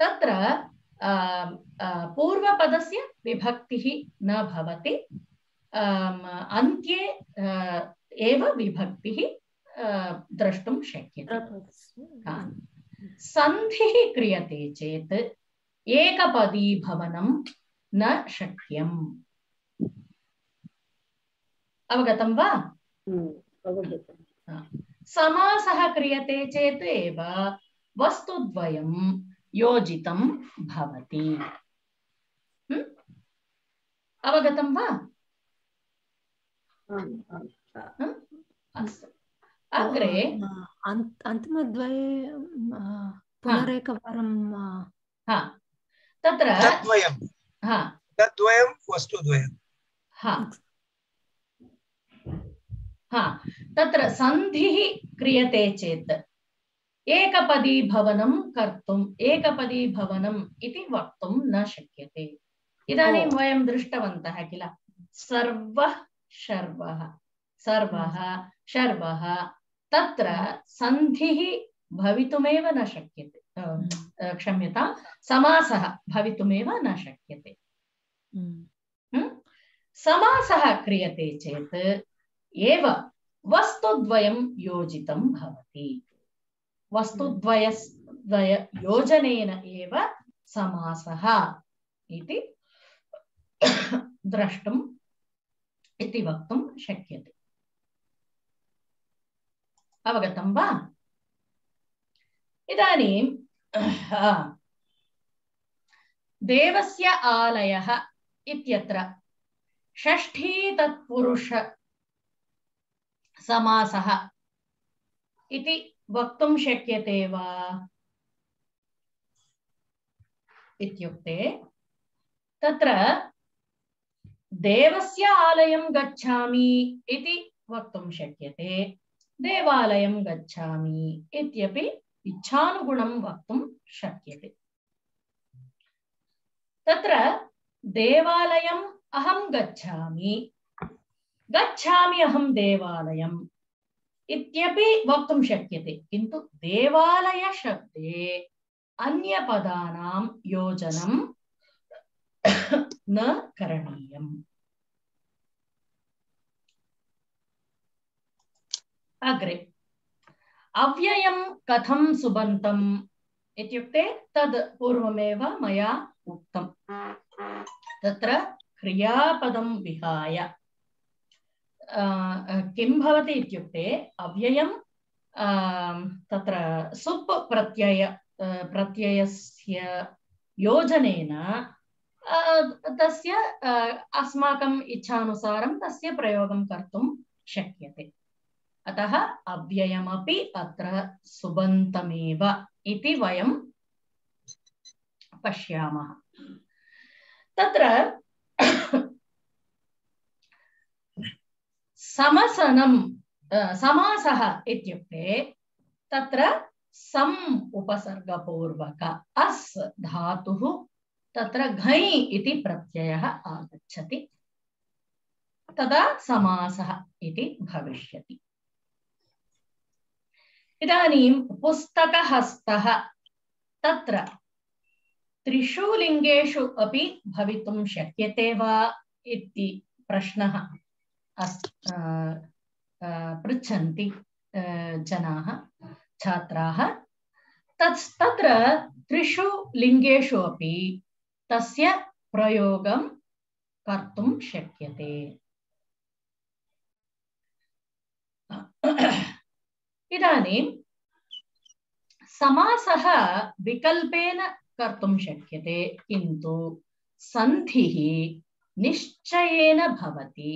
तत्र पूर्वपदस्य विभक्तिः न भवति, अन्त्ये एव विभक्तिः द्रष्टुं शक्यते। सन्धिः क्रियते चेत् एकपदीभवनं न शक्यम्। अवगतं वा? समासः क्रियते चेत् एव वस्तुद्वयं योजितं भवति। अवगतं वा? अस्तु, अग्रे अन्तिमद्वये पुनरेकवारं तत्र तद्वयं तद्वयं वस्तुद्वयं तत्र सन्धिः क्रियते चेत् एकपदीभवनं कर्तुम् एकपदीभवनम् इति वक्तुं न शक्यते। इदानीं वयं दृष्टवन्तः किल, सर्वः शर्वः सर्वः शर्वः, तत्र सन्धिः भवितुमेव न शक्यते, क्षम्यतां समासः भवितुमेव न शक्यते। समासः क्रियते चेत् एव वस्तुद्वयं योजितं भवति। वस्तुद्वयद्वय योजनेन एव समासः इति द्रष्टुम् इति वक्तुं शक्यते। अवगतं वा? इदानीं देवस्य आलयः इत्यत्र षष्ठी तत्पुरुष समासः इति वक्तुं शक्यते वा इत्युक्ते, तत्र देवस्य आलयं गच्छामि इति वक्तुं शक्यते, देवालयं गच्छामि इत्यपि इच्छानुगुणं वक्तुं शक्यते। तत्र देवालयम् अहं गच्छामि, गच्छामि अहं देवालयम् इत्यपि वक्तुं शक्यते, किन्तु देवालय शब्दे अन्यपदानां योजनं न करणीयम्। अग्रे अव्ययं कथं सुबन्तम् इत्युक्ते तद् पूर्वमेव मया उक्तम्। तत्र क्रियापदं विहाय किं भवति इत्युक्ते, अव्ययं तत्र सुप् प्रत्यय प्रत्ययस्य योजनेन तस्य अस्माकम् इच्छानुसारं तस्य प्रयोगं कर्तुं शक्यते। अतः अव्ययमपि अत्र सुबन्तमेव इति वयं पश्यामः। तत्र समसनं समासः इत्युक्ते तत्र सम् उपसर्गपूर्वक अस् धातुः तत्र घञ् इति प्रत्ययः आगच्छति, तदा समासः इति भविष्यति। इदानीं पुस्तकहस्तः तत्र त्रिषु लिङ्गेषु अपि भवितुं शक्यते वा इति प्रश्नः पृच्छन्ति जनाः छात्राः। तत् तत्र त्रिषु लिङ्गेषु अपि तस्य प्रयोगं कर्तुं शक्यते। इदानीं समासः विकल्पेन कर्तुं शक्यते, किन्तु सन्धिः निश्चयेन भवति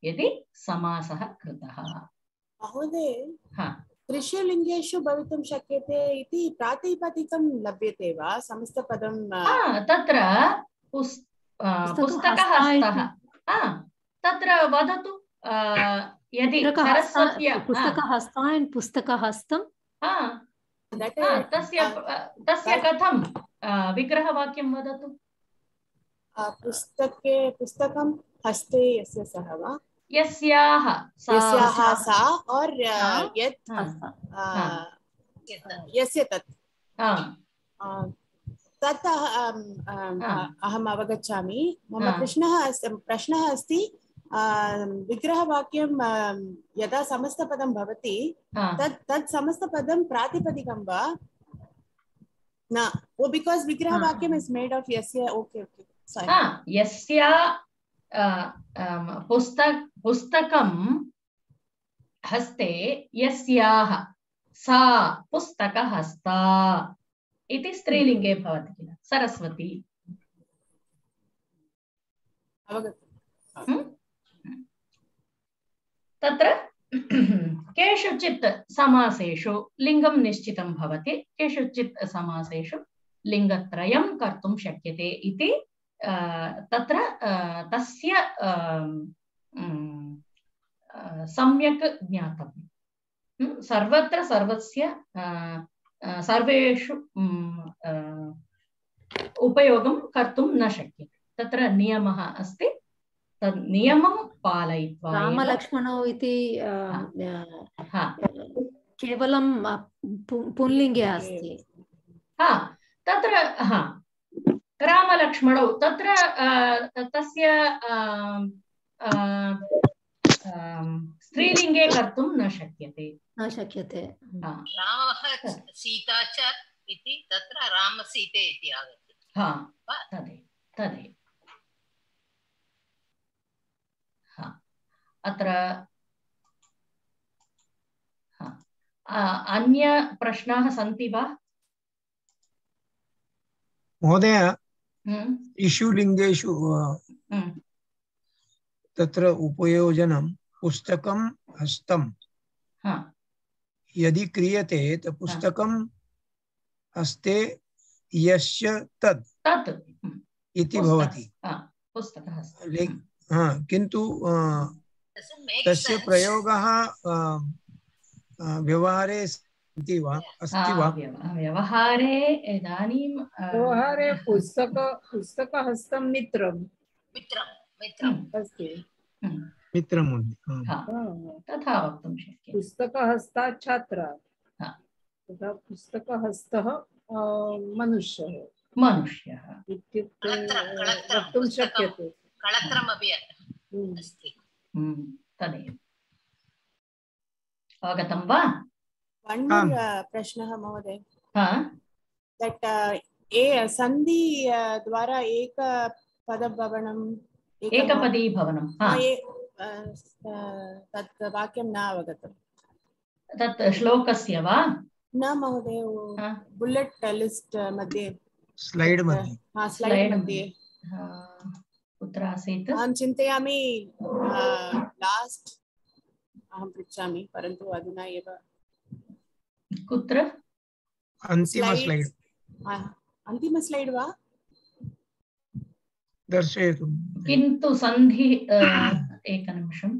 यदि समासः कृतः। महोदय, त्रिषु लिङ्गेषु भवितुं शक्यते इति प्रातिपदिकं लभ्यते वा? समस्तपदं तत्र पुस्तकहस्तः तत्र वदतु, यदि सरस्वत्या पुस्तकहस्तान् पुस्तकहस्तं तस्य तस्य कथं विग्रहवाक्यं वदतु। पुस्तके पुस्तकं हस्ते यस्य सः वा यस्याः यस्याः सा और यत् यस्य तत् तत् अहम् अवगच्छामि। मम प्रश्नः प्रश्नः अस्ति विग्रहवाक्यं यदा समस्तपदं भवति तत् तत् समस्तपदं प्रातिपदिकं वा न? ओ बिकॉज़ विग्रहवाक्यं इज मेड ऑफ यस्य ओके ओके सॉरी यस्य पुस्तक पुस्तकं हस्ते यस्याः सा पुस्तकहस्ता इति स्त्रीलिंगे भवति किल सरस्वती। अवगतम्। तत्र केषुचित् समासेषु लिंगं निश्चितं भवति, केषुचित् समासेषु लिंगत्रयं कर्तुं शक्यते इति तत्र तस्य सम्यक् ज्ञातव्यं। सर्वत्र सर्वस्य सर्वेषु उपयोगं कर्तुं न शक्यते। तत्र नियमः अस्ति, तद् नियमं पालयित्वा रामलक्ष्मणौ इति केवलं पुल्लिङ्गे अस्ति। हा तत्र हा रामलक्ष्मणौ तत्र तस्य स्त्रीलिङ्गे कर्तुं न शक्यते न शक्यते। रामः सीता च इति तत्र रामसीते इति आगच्छति। हा तदेव तदेव। अत्र अन्य प्रश्नाः सन्ति वा महोदय? इषु लिंगेषु तत्र उपयोजनं पुस्तकं हस्तं यदि क्रियते तो पुस्तकं हस्ते यस्य तत् तत् इति भवति। हाँ किन्तु तस्य प्रयोगः व्यवहारे अस्ति वा अस्ति वा? व्यवहारे इदानीं व्यवहारे पुस्तक पुस्तकहस्तं मित्रं मित्रं मित्रम् अस्ति। मित्रं तथा वक्तुं शक्यते। पुस्तकहस्ता छात्रः तथा पुस्तकहस्तः मनुष्यः मनुष्यः इत्युक्ते वक्तुं शक्यते। कलत्रमपि अस्ति। तदेव अवगतं वा? प्रश्नः महोदय। दट् ए सन्धि द्वारा एक पदभवनम् एकपदी भवनं तत् वाक्यं न अवगतं। तत् श्लोकस्य वा? न महोदय, बुलेट लिस्ट मध्ये स्लाइड मध्ये हाँ स्लाइड मध्ये कुत्र आसीत्? अहं चिन्तयामि लास्ट अहं पृच्छामि परन्तु अधुना एव कुत्र? अन्तिम स्लाइड अन्तिम स्लाइड वा दर्शयतु। किन्तु सन्धि एकनिमिषं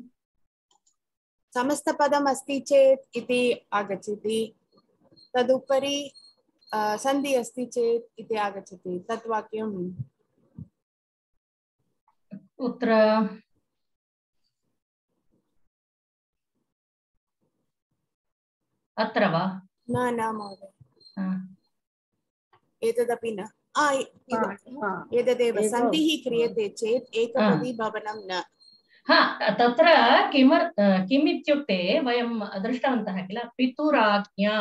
समस्तपदम् अस्ति चेत् इति आगच्छति, तदुपरि सन्धि अस्ति चेत् इति आगच्छति। तत् वाक्यं कुत्र? अत्र वा? न न महोदय, एतदपि न। एतदेव सन्धिः क्रियते चेत् एकपदी भवनं न। हा तत्र किमर् किम् इत्युक्ते वयं दृष्टवन्तः किल, पितुराज्ञा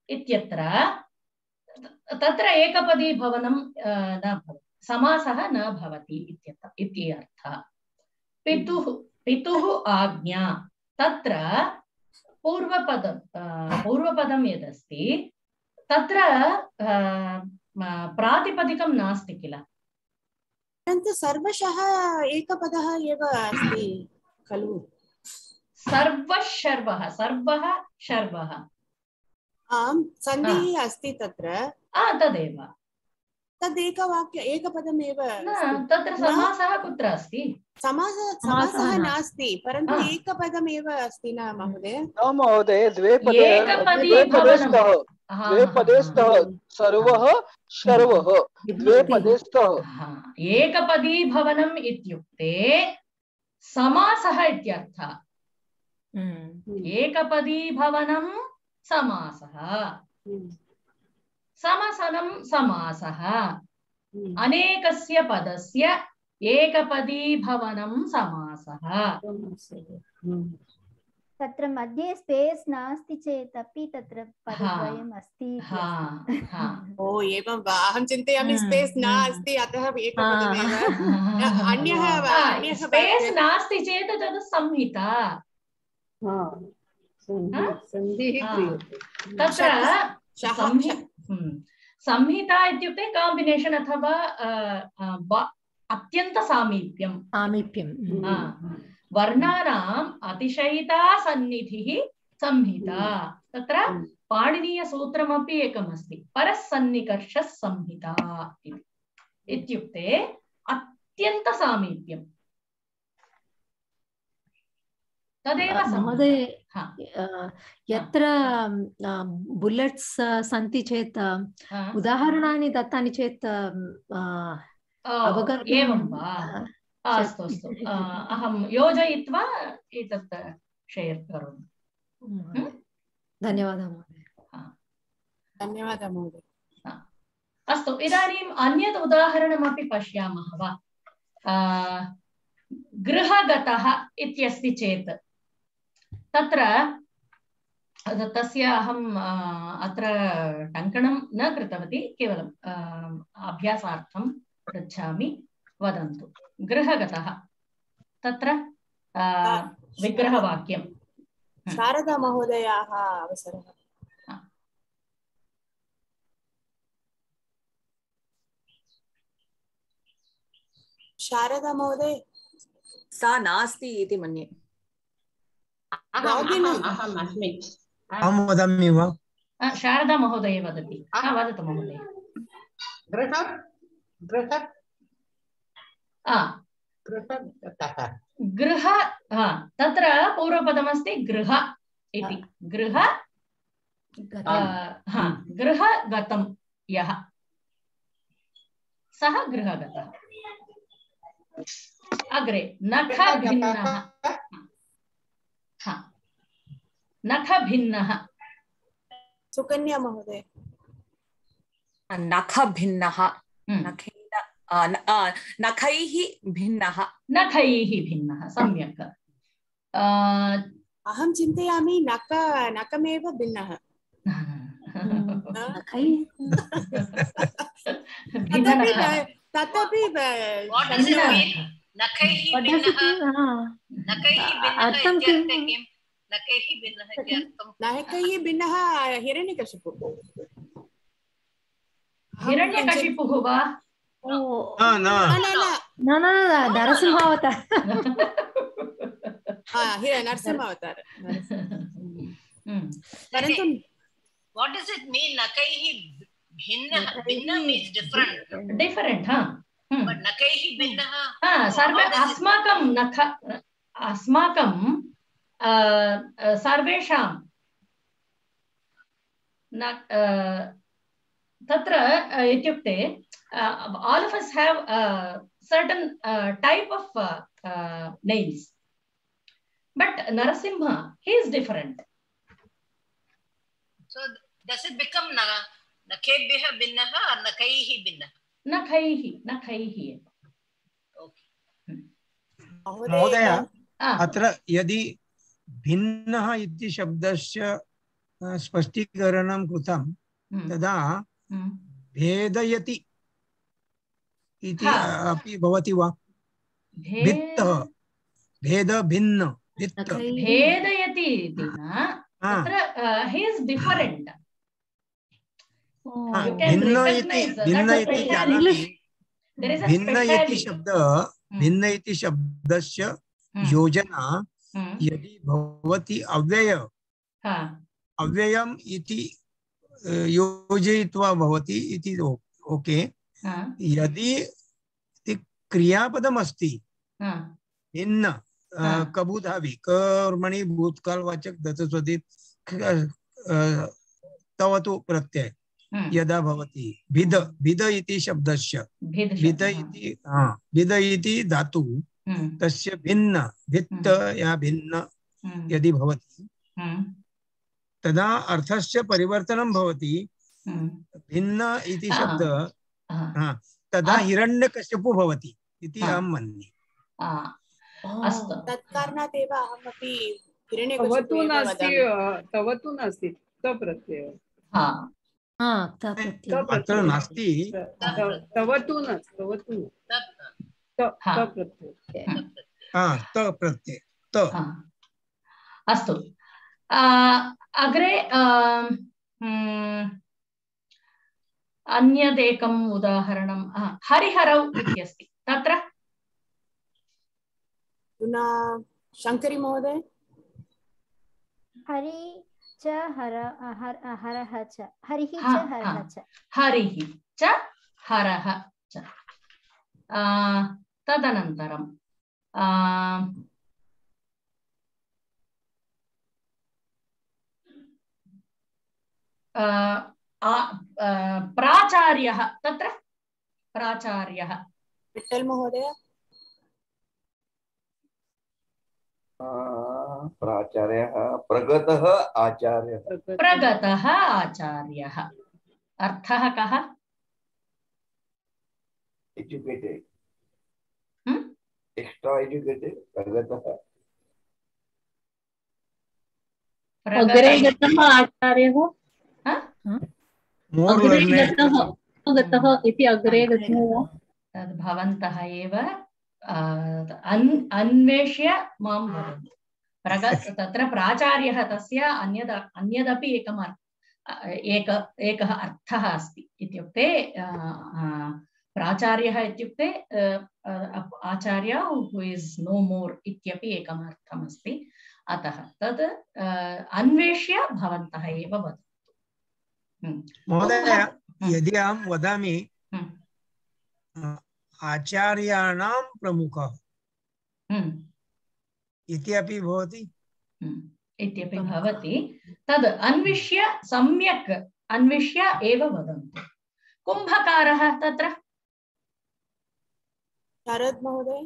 इत्यत्र तत्र एकपदी भवनं न भवति, समासः न भवति इति अर्थः। पितुः पितुः आज्ञा तत्र पूर्वपदं पूर्वपदं यदस्ति तत्र प्रातिपदिकं नास्ति किल, परन्तु सर्वशः एकपदः एव अस्ति खलु। सर्वशर्वः सर्वः शर्वः आम् सन्धिः अस्ति तत्र। तदेव तद् एकवाक्य एकपदमेव तत्र समासः कुत्र अस्ति? समास समासः नास्ति, परन्तु एकपदमेव अस्ति न महोदय? न महोदय, द्वे पदे द्वे पदे स्तः द्वे पदे स्तः सर्वः शर्वः द्वे पदे स्तः। एकपदी भवनम् इत्युक्ते समासः इत्यर्थः। एकपदी भवनं समासः, समसनं समासः, अनेकस्य पदस्य एकपदी भवनं समासः। तत्र मध्ये स्पेस नास्ति चेत् अपि तत्र पदद्वयम् अस्ति। ओ एवं वा? अहं चिन्तयामि स्पेस नास्ति अतः एकपदमेव। अन्यः अन्यः स्पेस नास्ति चेत् तद् संहिता। तत्र संहिता इत्युक्ते काम्बिनेशन् अथवा अत्यन्त सामीप्यं सामीप्यं वर्णानाम् अतिशयिता सन्निधिः संहिता। तत्र पाणिनीयसूत्रमपि एकमस्ति, परसन्निकर्षः संहिता इत्युक्ते अत्यन्त सामीप्यं। तदेव महोदय, यत्र बुलेट्स् सन्ति चेत् उदाहरणानि दत्तानि चेत् अवगन्तुम्। एवं वा? अस्तु अस्तु, अहं योजयित्वा एतत् शेर् करोमि। धन्यवादः महोदय। धन्यवादः महोदय। अस्तु, इदानीम् अन्यत् उदाहरणमपि पश्यामः वा? गृहगतः इत्यस्ति चेत् तत्र तस्य अहम् अत्र टङ्कणं न कृतवती, केवलं अभ्यासार्थं पृच्छामि। वदन्तु, गृहगतः तत्र विग्रहवाक्यं। शारदा महोदयाः अवसरः। शारदा महोदय, सा नास्ति इति मन्ये। अहम् अस्मि। अहं वदामि वा? शारदा महोदय वदति। वदतु महोदय। गृह गृह गृह, तत्र पूर्वपदमस्ति गृह इति। गृह गृहगतं यः सः गृहगतः। अग्रे नखभिन्नः। नखभिन्नः। सुकन्या महोदय। नखभिन्नः, नखैः भिन्नः। नखैः भिन्नः, सम्यक्। अहं चिन्तयामि नख नखमेव भिन्नः। तथापि नखैः भिन्नः हिरण्यकशिपुः। हिरण्यकशिपुः वा? न न न नरसिंहावतार। नरसिंहावतार। परन्तु what does it mean? Nakaihi bhinna. Bhinna means different. Different, huh? Hmm. But nakaihi bhinna. Ah, sarve asmakam nakha asmakam sarvesham nak tatra ityukte all of us have a certain uh, type of uh, uh, names, but Narasimha, he is different. So does it become na nakebhya binnaha or nakaihi binnaha? Nakaihi, nakaihi. Okay. महोदय, अत्र यदि भिन्नः इति शब्दस्य स्पष्टीकरणं कृतं तदा भेदयति इति अपि भवति वा? भित्तः भेद भिन्न भित्त भेदयति इति न, तत्र he is different. भिन्न इति भिन्न इति जानामि। भिन्न इति शब्द भिन्न इति शब्दस्य योजना यदि भवति अव्यय अव्ययम् इति योजयित्वा भवति इति ओके, यदि क्रियापदम् अस्ति भिन्न कबूधावि कर्मणि भूतकालवाचक दत्तस्वधि तवतु प्रत्यय यदा भवति भिद भिद इति शब्दस्य भिद इति हाँ भिद इति धातु तस्य भिन्न भित्त या भिन्न यदि भवति तदा अर्थस्य परिवर्तनं भवति भिन्न इति शब्द हाँ तदा हिरण्यकश्यपो भवति इति अहं मन्ये। अस्तु तत्कारणात् एव अहमपि तवतु नास्ति तवतु नास्ति तप्रत्यय हा हा तप्रत्यय अत्र नास्ति तवतु न तवतु तप्रत्यय हा तप्रत्यय त अस्तु अग्रे अन्यदेकम् उदाहरणं हरिहरौ इत्यस्ति तत्र शंकरी महोदय हरि च हर हरः च हरिः च हरः च हरिः च हरः च तदनन्तरं प्राचार्यः तत्र प्राचार्यः विठ्ठल महोदय प्राचार्यः प्रगतः आचार्यः प्रगतः आचार्यः अर्थः कः एजुकेटेड एक्स्ट्रा एजुकेटेड प्रगतः अग्रे गतः आचार्यः अग्रे गतः गतः इति अग्रे गतः तद् भवन्तः एव अन्वेष्य मां वदन्तु। प्रगत तत्र प्राचार्यः तस्य अन्यद अन्यदपि एकम् एक एकः अर्थः अस्ति इत्युक्ते प्राचार्यः इत्युक्ते आचार्य हू इस् नो मोर् इत्यपि एकम् अर्थम् अस्ति। अतः तद् अन्वेष्य भवन्तः एव वदन्तु। महोदय यदि अहं वदामि आचार्याणां प्रमुखः इति अपि भवति इत्यपि भवति तद् अन्विष्य सम्यक् अन्विष्य एव वदन्तु। कुम्भकारः तत्र शरद महोदय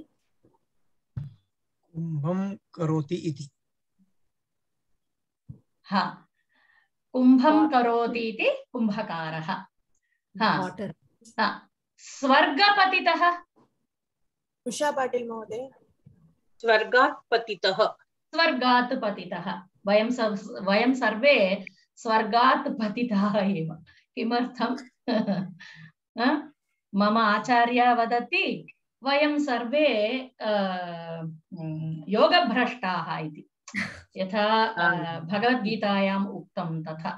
कुम्भं करोति इति हा कुम्भं करोति इति कुम्भकारः। हा स्वर्गपतितः उषा पाटिल महोदय स्वर्गात् पतितः स्वर्गात् पतितः वयं वयं सर्वे स्वर्गात् पतिताः एव। किमर्थं मम आचार्य वदति वयं सर्वे योगभ्रष्टाः इति यथा भगवद्गीतायाम् उक्तं तथा।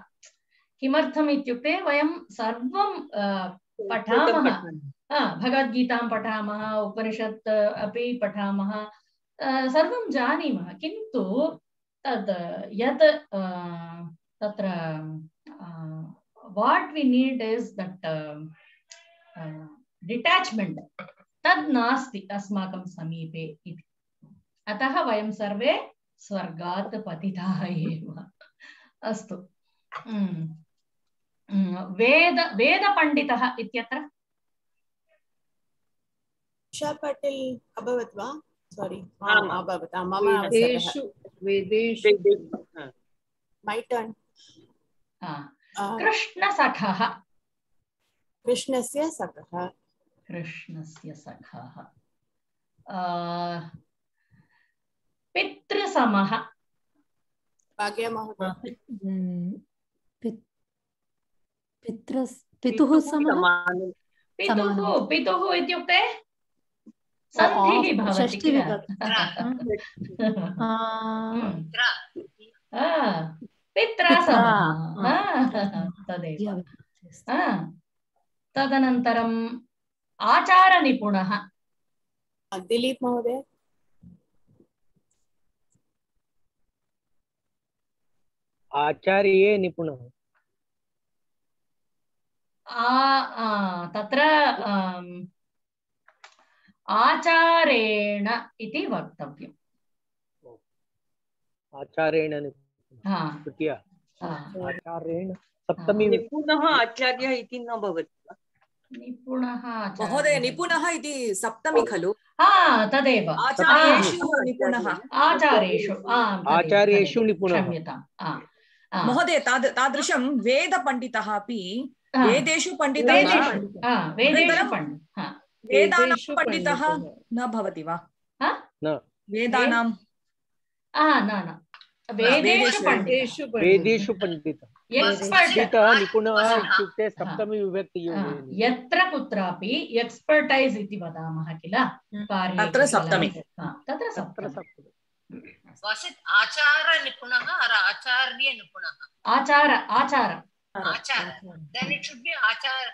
किमर्थम् इत्युक्ते वयं सर्वं पठामः भगवद्गीतां पठामः उपनिषत् अपि पठामः सर्वं जानीमः किन्तु तद् यत् तत्र what we need is that detachment तद् नास्ति अस्माकं समीपे इति। अतः वयं सर्वे स्वर्गात् पतिताः एव। अस्तु वेद वेदपण्डितः इत्यत्र उषा पाटिल अभवत् वा सॉरी अभवत् मम वेदेषु वेदेषु माय टर्न कृष्णसखः कृष्णस्य सखः कृष्णस्य सखः पितृसमः भाग्य महोदय पितृ पितुः समः पितुः पितुः इत्युक्ते सन्धिः भवति किल पित्रा समः तदेव। तदनन्तरम् आचारनिपुणः दिलीप महोदय आचार्ये निपुणः तत्र आचारेण इति वक्तव्यम्। आचारेण तृतीया आचारेण सप्तमी निपुणः आचार्यः इति न भवति वा? निपुणः महोदय निपुणः इति सप्तमी खलु? हा तदेव आचार्येषु निपुणः आचार्येषु आचार्येषु निपुणः। क्षम्यताम् महोदय तादृशं वेदपण्डितः अपि वेदेषु पण्डितः वेदानां पण्डितः न भवति वा? वेदानां न न वेदेषु वेदेषु पंडितः पंडितः निपुणः इत्युक्ते सप्तमी विभक्ति यत्र कुत्रापि एक्स्पर्टैस् इति वदामः किल तत्र सप्तमी तत्र सप्तमी आचार निपुणः or आचार्य निपुणः? आचार आचार आचार then it should be आचार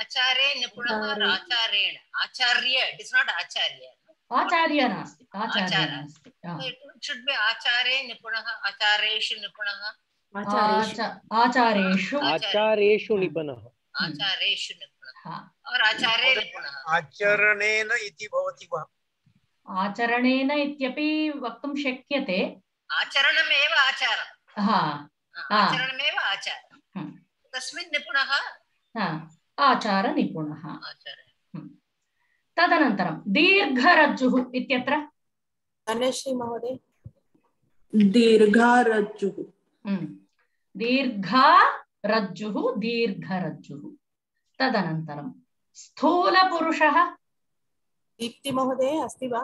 आचारे निपुणः or आचारेण आचार्य it is not आचार्य आचार्य नास्ति आचार्य नास्ति it should be आचारे निपुणः आचारेषु निपुणः आचारेषु आचारेषु निपुणः आचारेषु निपुणः और आचारे निपुणः आचरणेन इति भवति वा? आचरणेन इत्यपि वक्तुं शक्यते। आचरणमेव आचारः। हा आचरणमेव आचारः तस्मिन् निपुणः आचारनिपुणः। तदनन्तरं दीर्घरज्जुः इत्यत्र धनश्री महोदय दीर्घरज्जुः दीर्घा रज्जुः दीर्घरज्जुः। तदनन्तरं स्थूलपुरुषः दीप्ति महोदय अस्ति वा?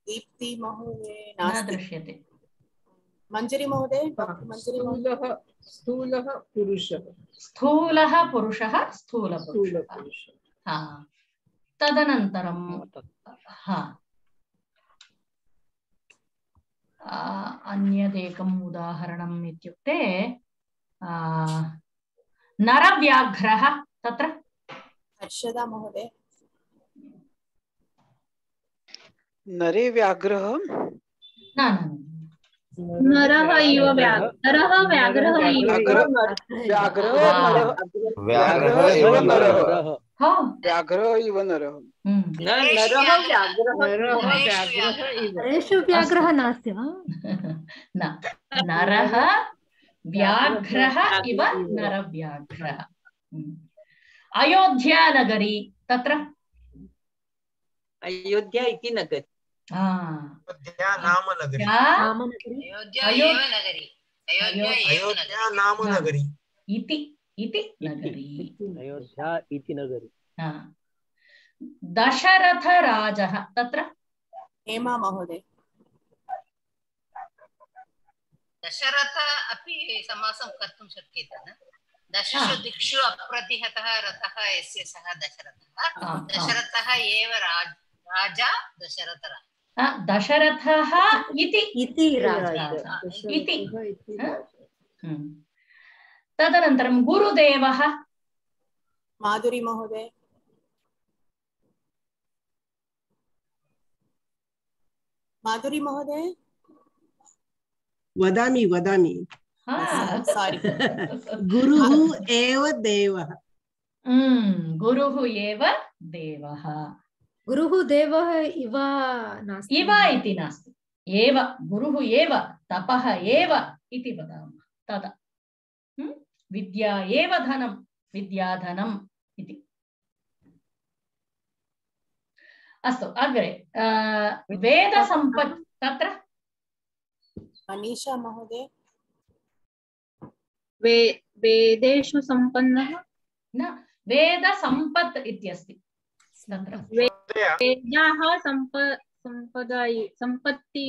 दीप्ति महोदय न दृश्यते। मंजरी महोदय स्थूलः स्थूलः पुरुषः स्थूलः पुरुषः स्थूलपुरुषः। हा तदनन्तरं हा अन्यदेकम् उदाहरणम् इत्युक्ते नरव्याघ्रः तत्र हर्षदा महोदय नरे व्याघ्रः न नरः इव नरः व्याघ्रः इव व्याघ्रः व्याघ्रः इव नरः व्याघ्रः इव नरः नरेषु व्याघ्रः नास्ति वा? न नरः व्याघ्रः इव नरव्याघ्रः। अयोध्यानगरी तत्र अयोध्या इति नगरी अयोध्या नाम नगरी अयोध्या नाम नगरी इति इति नगरी अयोध्या इति नगरी। दशरथराजः तत्र हेमा महोदय दशरथ अपि समासं कर्तुं शक्यते न? दशषु दिक्षु अप्रतिहतः रथः यस्य सः दशरथः दशरथः एव राजा दशरथः दशरथः इति इति राजा इति। तदनन्तरं गुरुदेवः माधुरी महोदय माधुरी महोदय वदामि वदामि सॉरी गुरुः एव देवः गुरुः एव देवः गुरुः देवः इव नास्ति इव इति नास्ति एव गुरुः एव तपः एव इति वदामः तदा विद्या एव धनं विद्याधनम् इति। अस्तु अग्रे वेदसम्पत् तत्र मनीषा महोदय वे वेदेषु सम्पन्नः न वेदसम्पत् इत्यस्ति तत्र वेदाः सम्प सम्पदाय सम्पत्ति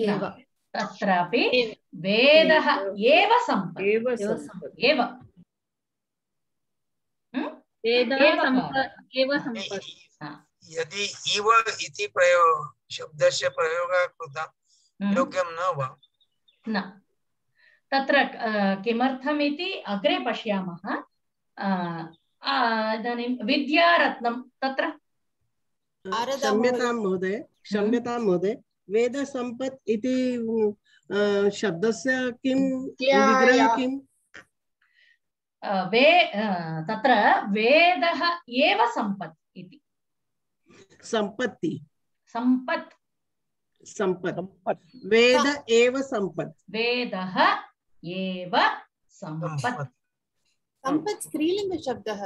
एव तत्रापि वेदः एव सम्पत् एव एव एव सम्पत्। यदि इव इति प्रयोग शब्दस्य प्रयोगः कृतः योग्यं न वा? न तत्र किमर्थमिति अग्रे पश्यामः। इदानीं विद्यारत्नं तत्र क्षम्यतां महोदय क्षम्यतां महोदय वेदसम्पत् इति शब्दस्य किं विग्रहः किम्? वे तत्र वेदः एव सम्पत् इति। सम्पत्ति सम्पत् सम्पत् वेद एव सम्पत् वेदः एव सम्पत् सम्पत् स्त्रीलिङ्ग शब्दः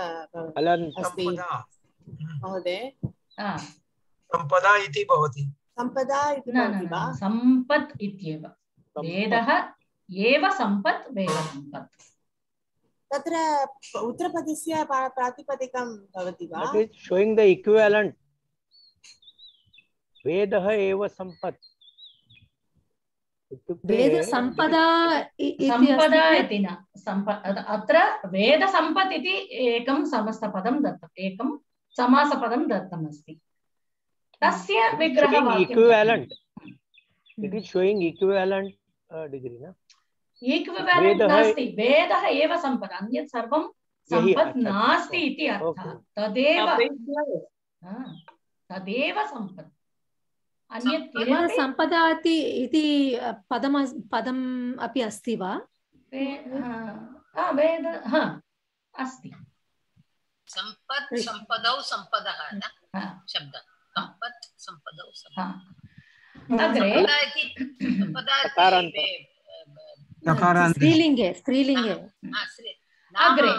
अस्ति महोदय। सम्पदा इति भवति। सम्पदा इति भवति वा? सम्पत् इत्येव वेदः एव सम्पत् वेदसम्पत्। तत्र उत्तरपदस्य प्रातिपदिकं भवति वा? That is showing the equivalent. वेदः एव सम्पत्। वेद संपदा संपदा इति न संपद अत्र वेद संपत् इति एकं समस्तपदं दत्तम् एकं समासपदं दत्तम् अस्ति तस्य विग्रहवाक्यं equivalent it is showing equivalent uh, degree na equivalent नास्ति वेदः एव सम्पत् अन्यत् सर्वं सम्पत् नास्ति इति अर्थः तदेव तदेव सम्पत् अन्यत् वेद संपदा इति पदम पदम् अपि अस्ति वा? वेद हा अस्ति सम्पत् सम्पदौ सम्पदः न शब्दः सम्पत् सम्पदौ सम्पदः अग्रे स्त्रीलिङ्गे स्त्रीलिङ्गे अग्रे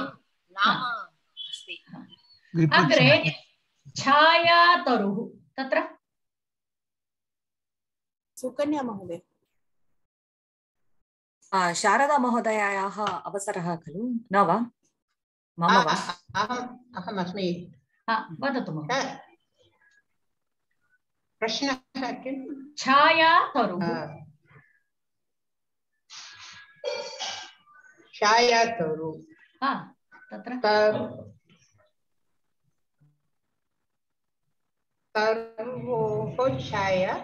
अग्रे छायातरुः तत्र सुकन्या महोदय शारदा महोदयायाः अवसरः खलु न वा? मम वा? अहम् अहम् अस्मि। वदतु महोदय। प्रश्नः किं? छायातरुः छायातरुः हा तत्र तरोः छाया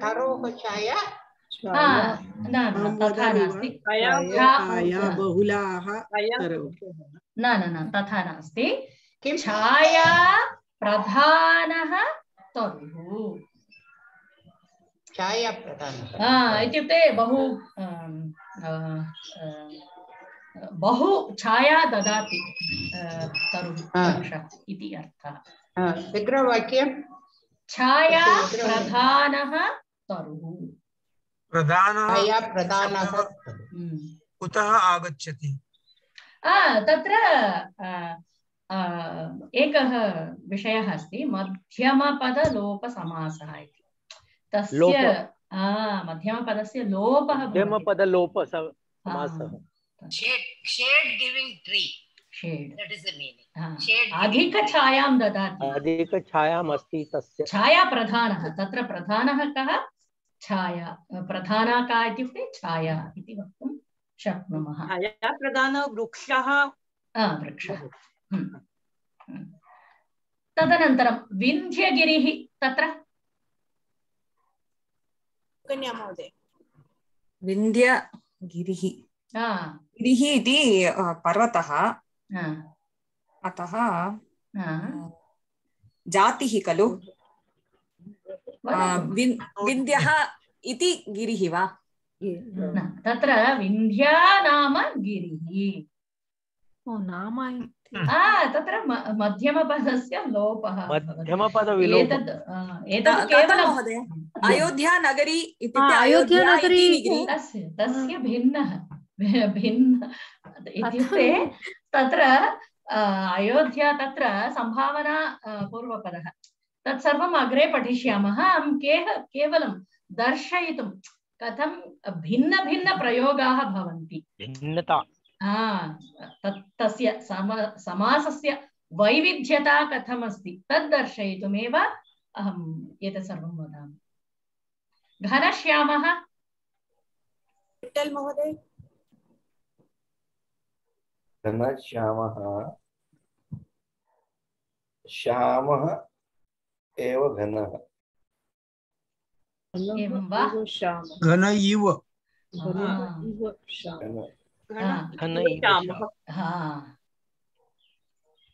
तरोः छाया तथा नास्ति बहुलाः न न न तथा नास्ति छाया प्रधानः तरुः छाया प्रधानः इत्युक्ते बहु बहु छाया ददाति तरुः इति अर्थः। विग्रहवाक्यं छाया प्रधानः तरुः प्रधानः प्रधानः कुतः आगच्छति? तत्र एकः विषयः अस्ति मध्यमपदलोपसमासः इति तस्य मध्यमपदस्य लोपः मध्यमपदलोपसमासः shade giving tree shade that is the meaning shade अधिक छायां ददाति अधिक छायाम् अस्ति तस्य छाया प्रधानः तत्र प्रधानः कः छाया प्रधाना का इत्युक्ते छाया इति वक्तुं शक्नुमः। छाया प्रधानः वृक्षः वृक्षः तदनन्तरं विन्ध्यगिरिः तत्र कन्या महोदय विन्ध्यगिरिः गिरिः इति पर्वतः अतः जातिः खलु विन्ध्यः इति गिरिः वा? तत्र विन्ध्या नाम गिरिः नाम तत्र मध्यमपदस्य लोपः मध्यमपदविलोपः एतत् केवलं महोदय अयोध्या नगरी इत्युक्ते अयोध्या नगरी तस्य भिन्नः भिन्न इत्युक्ते तत्र अयोध्या तत्र संभावना पूर्वपदः तत्सर्वम् अग्रे पठिष्यामः। अहं केवलं दर्शयितुं कथं भिन्न भिन्न प्रयोगाः भवन्ति भिन्नता तस्य समासस्य वैविध्यता कथमस्ति तद् दर्शयितुमेव अहम् एतत् सर्वं वदामि। घनश्यामः महोदय घनश्यामः श्यामः एव घनः एवं वा? घन इव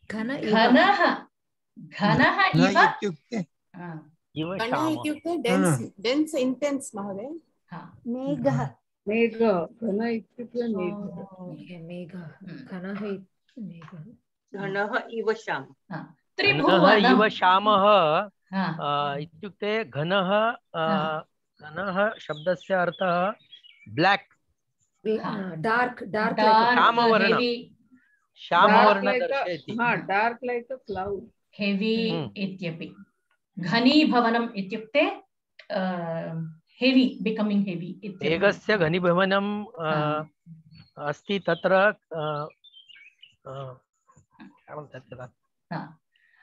घनः घनः इव इत्युक्ते घनः इत्युक्ते डेन्स् डेन्स् इंटेन्स् महोदय मेघः मेघ घन इत्युक्ते मेघ मेघ घनः मेघः घनः इव श्याम घनः इव श्यामः इत्युक्ते घनः घनः शब्दस्य अर्थः ब्लैक डार्क डार्क श्यामवर्ण श्यामवर्ण दर्शयति हाँ dark like a cloud heavy इत्यपि घनीभवनम् इत्युक्ते हेवी बिकमिंग हेवी इत्यपि मेघस्य घनीभवनम् अस्ति तत्र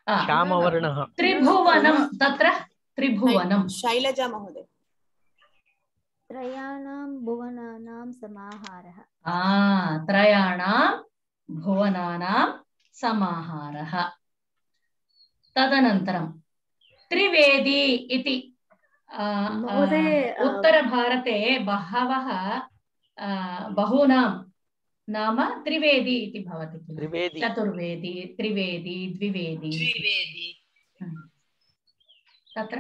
श्यामवर्णः त्रिभुवनं तत्र त्रिभुवनं शैलजा महोदय त्रयाणां भुवनानां समाहारः आ त्रयाणां भुवनानां समाहारः तदनन्तरं त्रिवेदी इति उत्तरभारते बहवः बहूनां नाम त्रिवेदी इति भवति त्रिवेदी चतुर्वेदी त्रिवेदी द्विवेदी द्विवेदी तत्र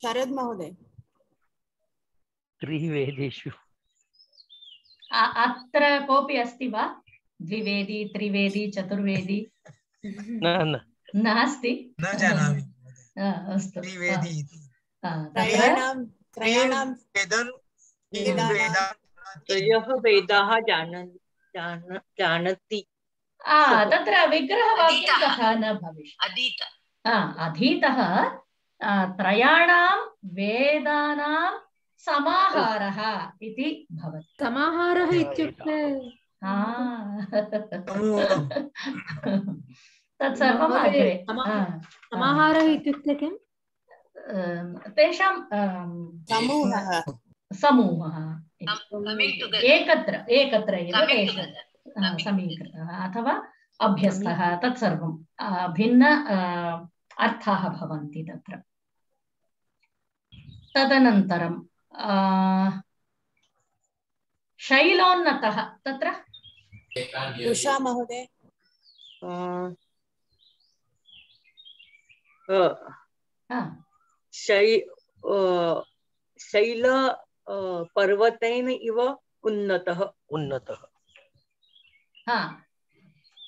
शरद महोदय त्रिवेदीषु अत्र कोऽपि अस्ति वा द्विवेदी त्रिवेदी चतुर्वेदी न न नास्ति न जानामि अस्तु त्रिवेदी इति त्रयाणां त्रयाणां त्रयः वेदाः जानन्ति तत्र विग्रहवाक्यं तथा न भविष्यति अधीतः त्रयाणां वेदानां समाहारः इति भवति समाहारः इत्युक्ते तत्सर्वम् अग्रे समाहारः इत्युक्ते किं तेषां समूहः समूहः एकत्र एकत्र एव समीकृतः अथवा अभ्यस्तः तत्सर्वं भिन्न अर्थाः भवन्ति तत्र तदनन्तरं शैलोन्नतः तत्र उषा महोदय शैल पर्वतेन इव उन्नतः उन्नतः हाँ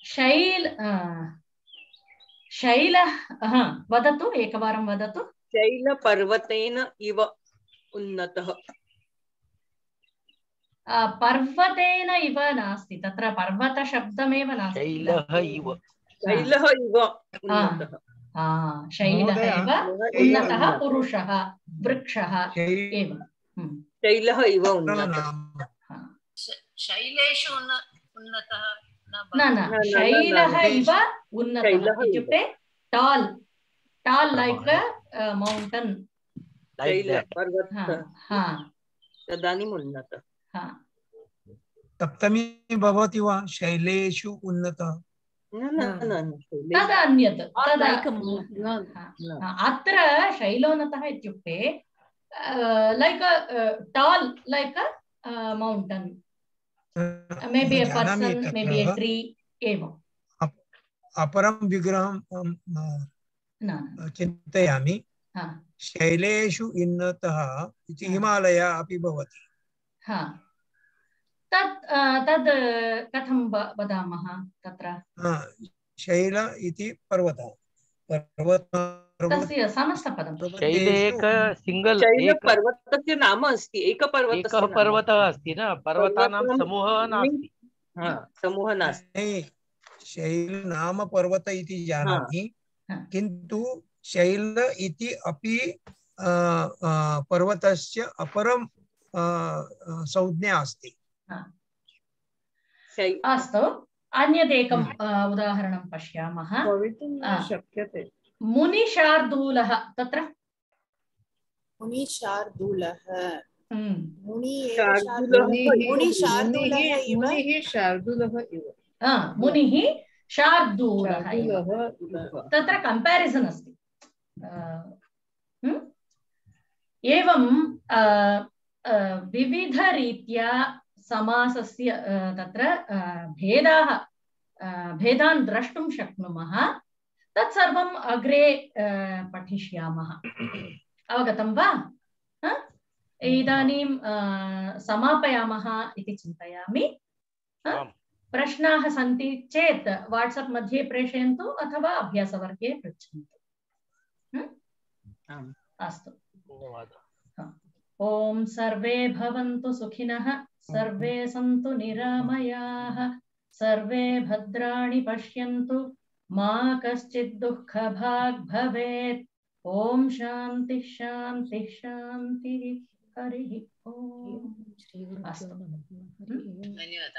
शैल शैल हाँ वदतु एकवारं वदतु शैल पर्वतेन इव उन्नतः पर्वतेन इव नास्ति तत्र पर्वत शब्दमेव नास्ति शैलः इव शैलः इव उन्नतः शैलः इव उन्नतः पुरुषः वृक्षः एवं शैलः इव उन्नतः शैलेषु उन्नतः न न शैलः इव उन्नतः इत्युक्ते टाल् टाल् लैक् मौण्टन् शैल पर्वतः तदानीम् उन्नतः सप्तमी भवति वा शैलेषु उन्नतः तदन्यत् अत्र शैलोन्नतः इत्युक्ते like tall like मौण्टन् maybe a person maybe a tree एवं अपरं विग्रहं चिन्तयामि शैलेषु उन्नतः इति हिमालय अपि भवति तत् तद् कथं वदामः तत्र शैल इति पर्वतः तस्य समस्तपदं शैलेक सिंगल शैल पर्वतस्य नाम अस्ति एकपर्वतस्य एकः पर्वतः अस्ति न पर्वतानां समूहः नास्ति समूहः नास्ति शैल नाम पर्वत इति जानामि किन्तु शैल इति अपि पर्वतस्य अपरं संज्ञा अस्ति अस्तु अन्यदेकम् उदाहरणं पश्यामः शक्यते मुनिशार्दूलः तत्र मुनिशार्दूलः मुनिः शार्दूलः इव मुनिः शार्दूलः तत्र कंपैरिजन अस्ति एवं विविधरीत्या समासस्य तत्र भेदाः भेदान् द्रष्टुं शक्नुमः तत्सर्वम् अग्रे पठिष्यामः। अवगतं वा? इदानीं समापयामः इति चिन्तयामि। प्रश्नाः सन्ति चेत् वाट्सप् मध्ये प्रेषयन्तु अथवा अभ्यासवर्गे पृच्छन्तु। अस्तु, ॐ सर्वे भवन्तु सुखिनः, सर्वे सन्तु निरामयाः, सर्वे भद्राणि पश्यन्तु, मा कश्चित् दुःखभाग् भवेत्। ॐ शान्ति शान्ति शान्तिः। हरिः ॐ। अस्तु। धन्यवादः।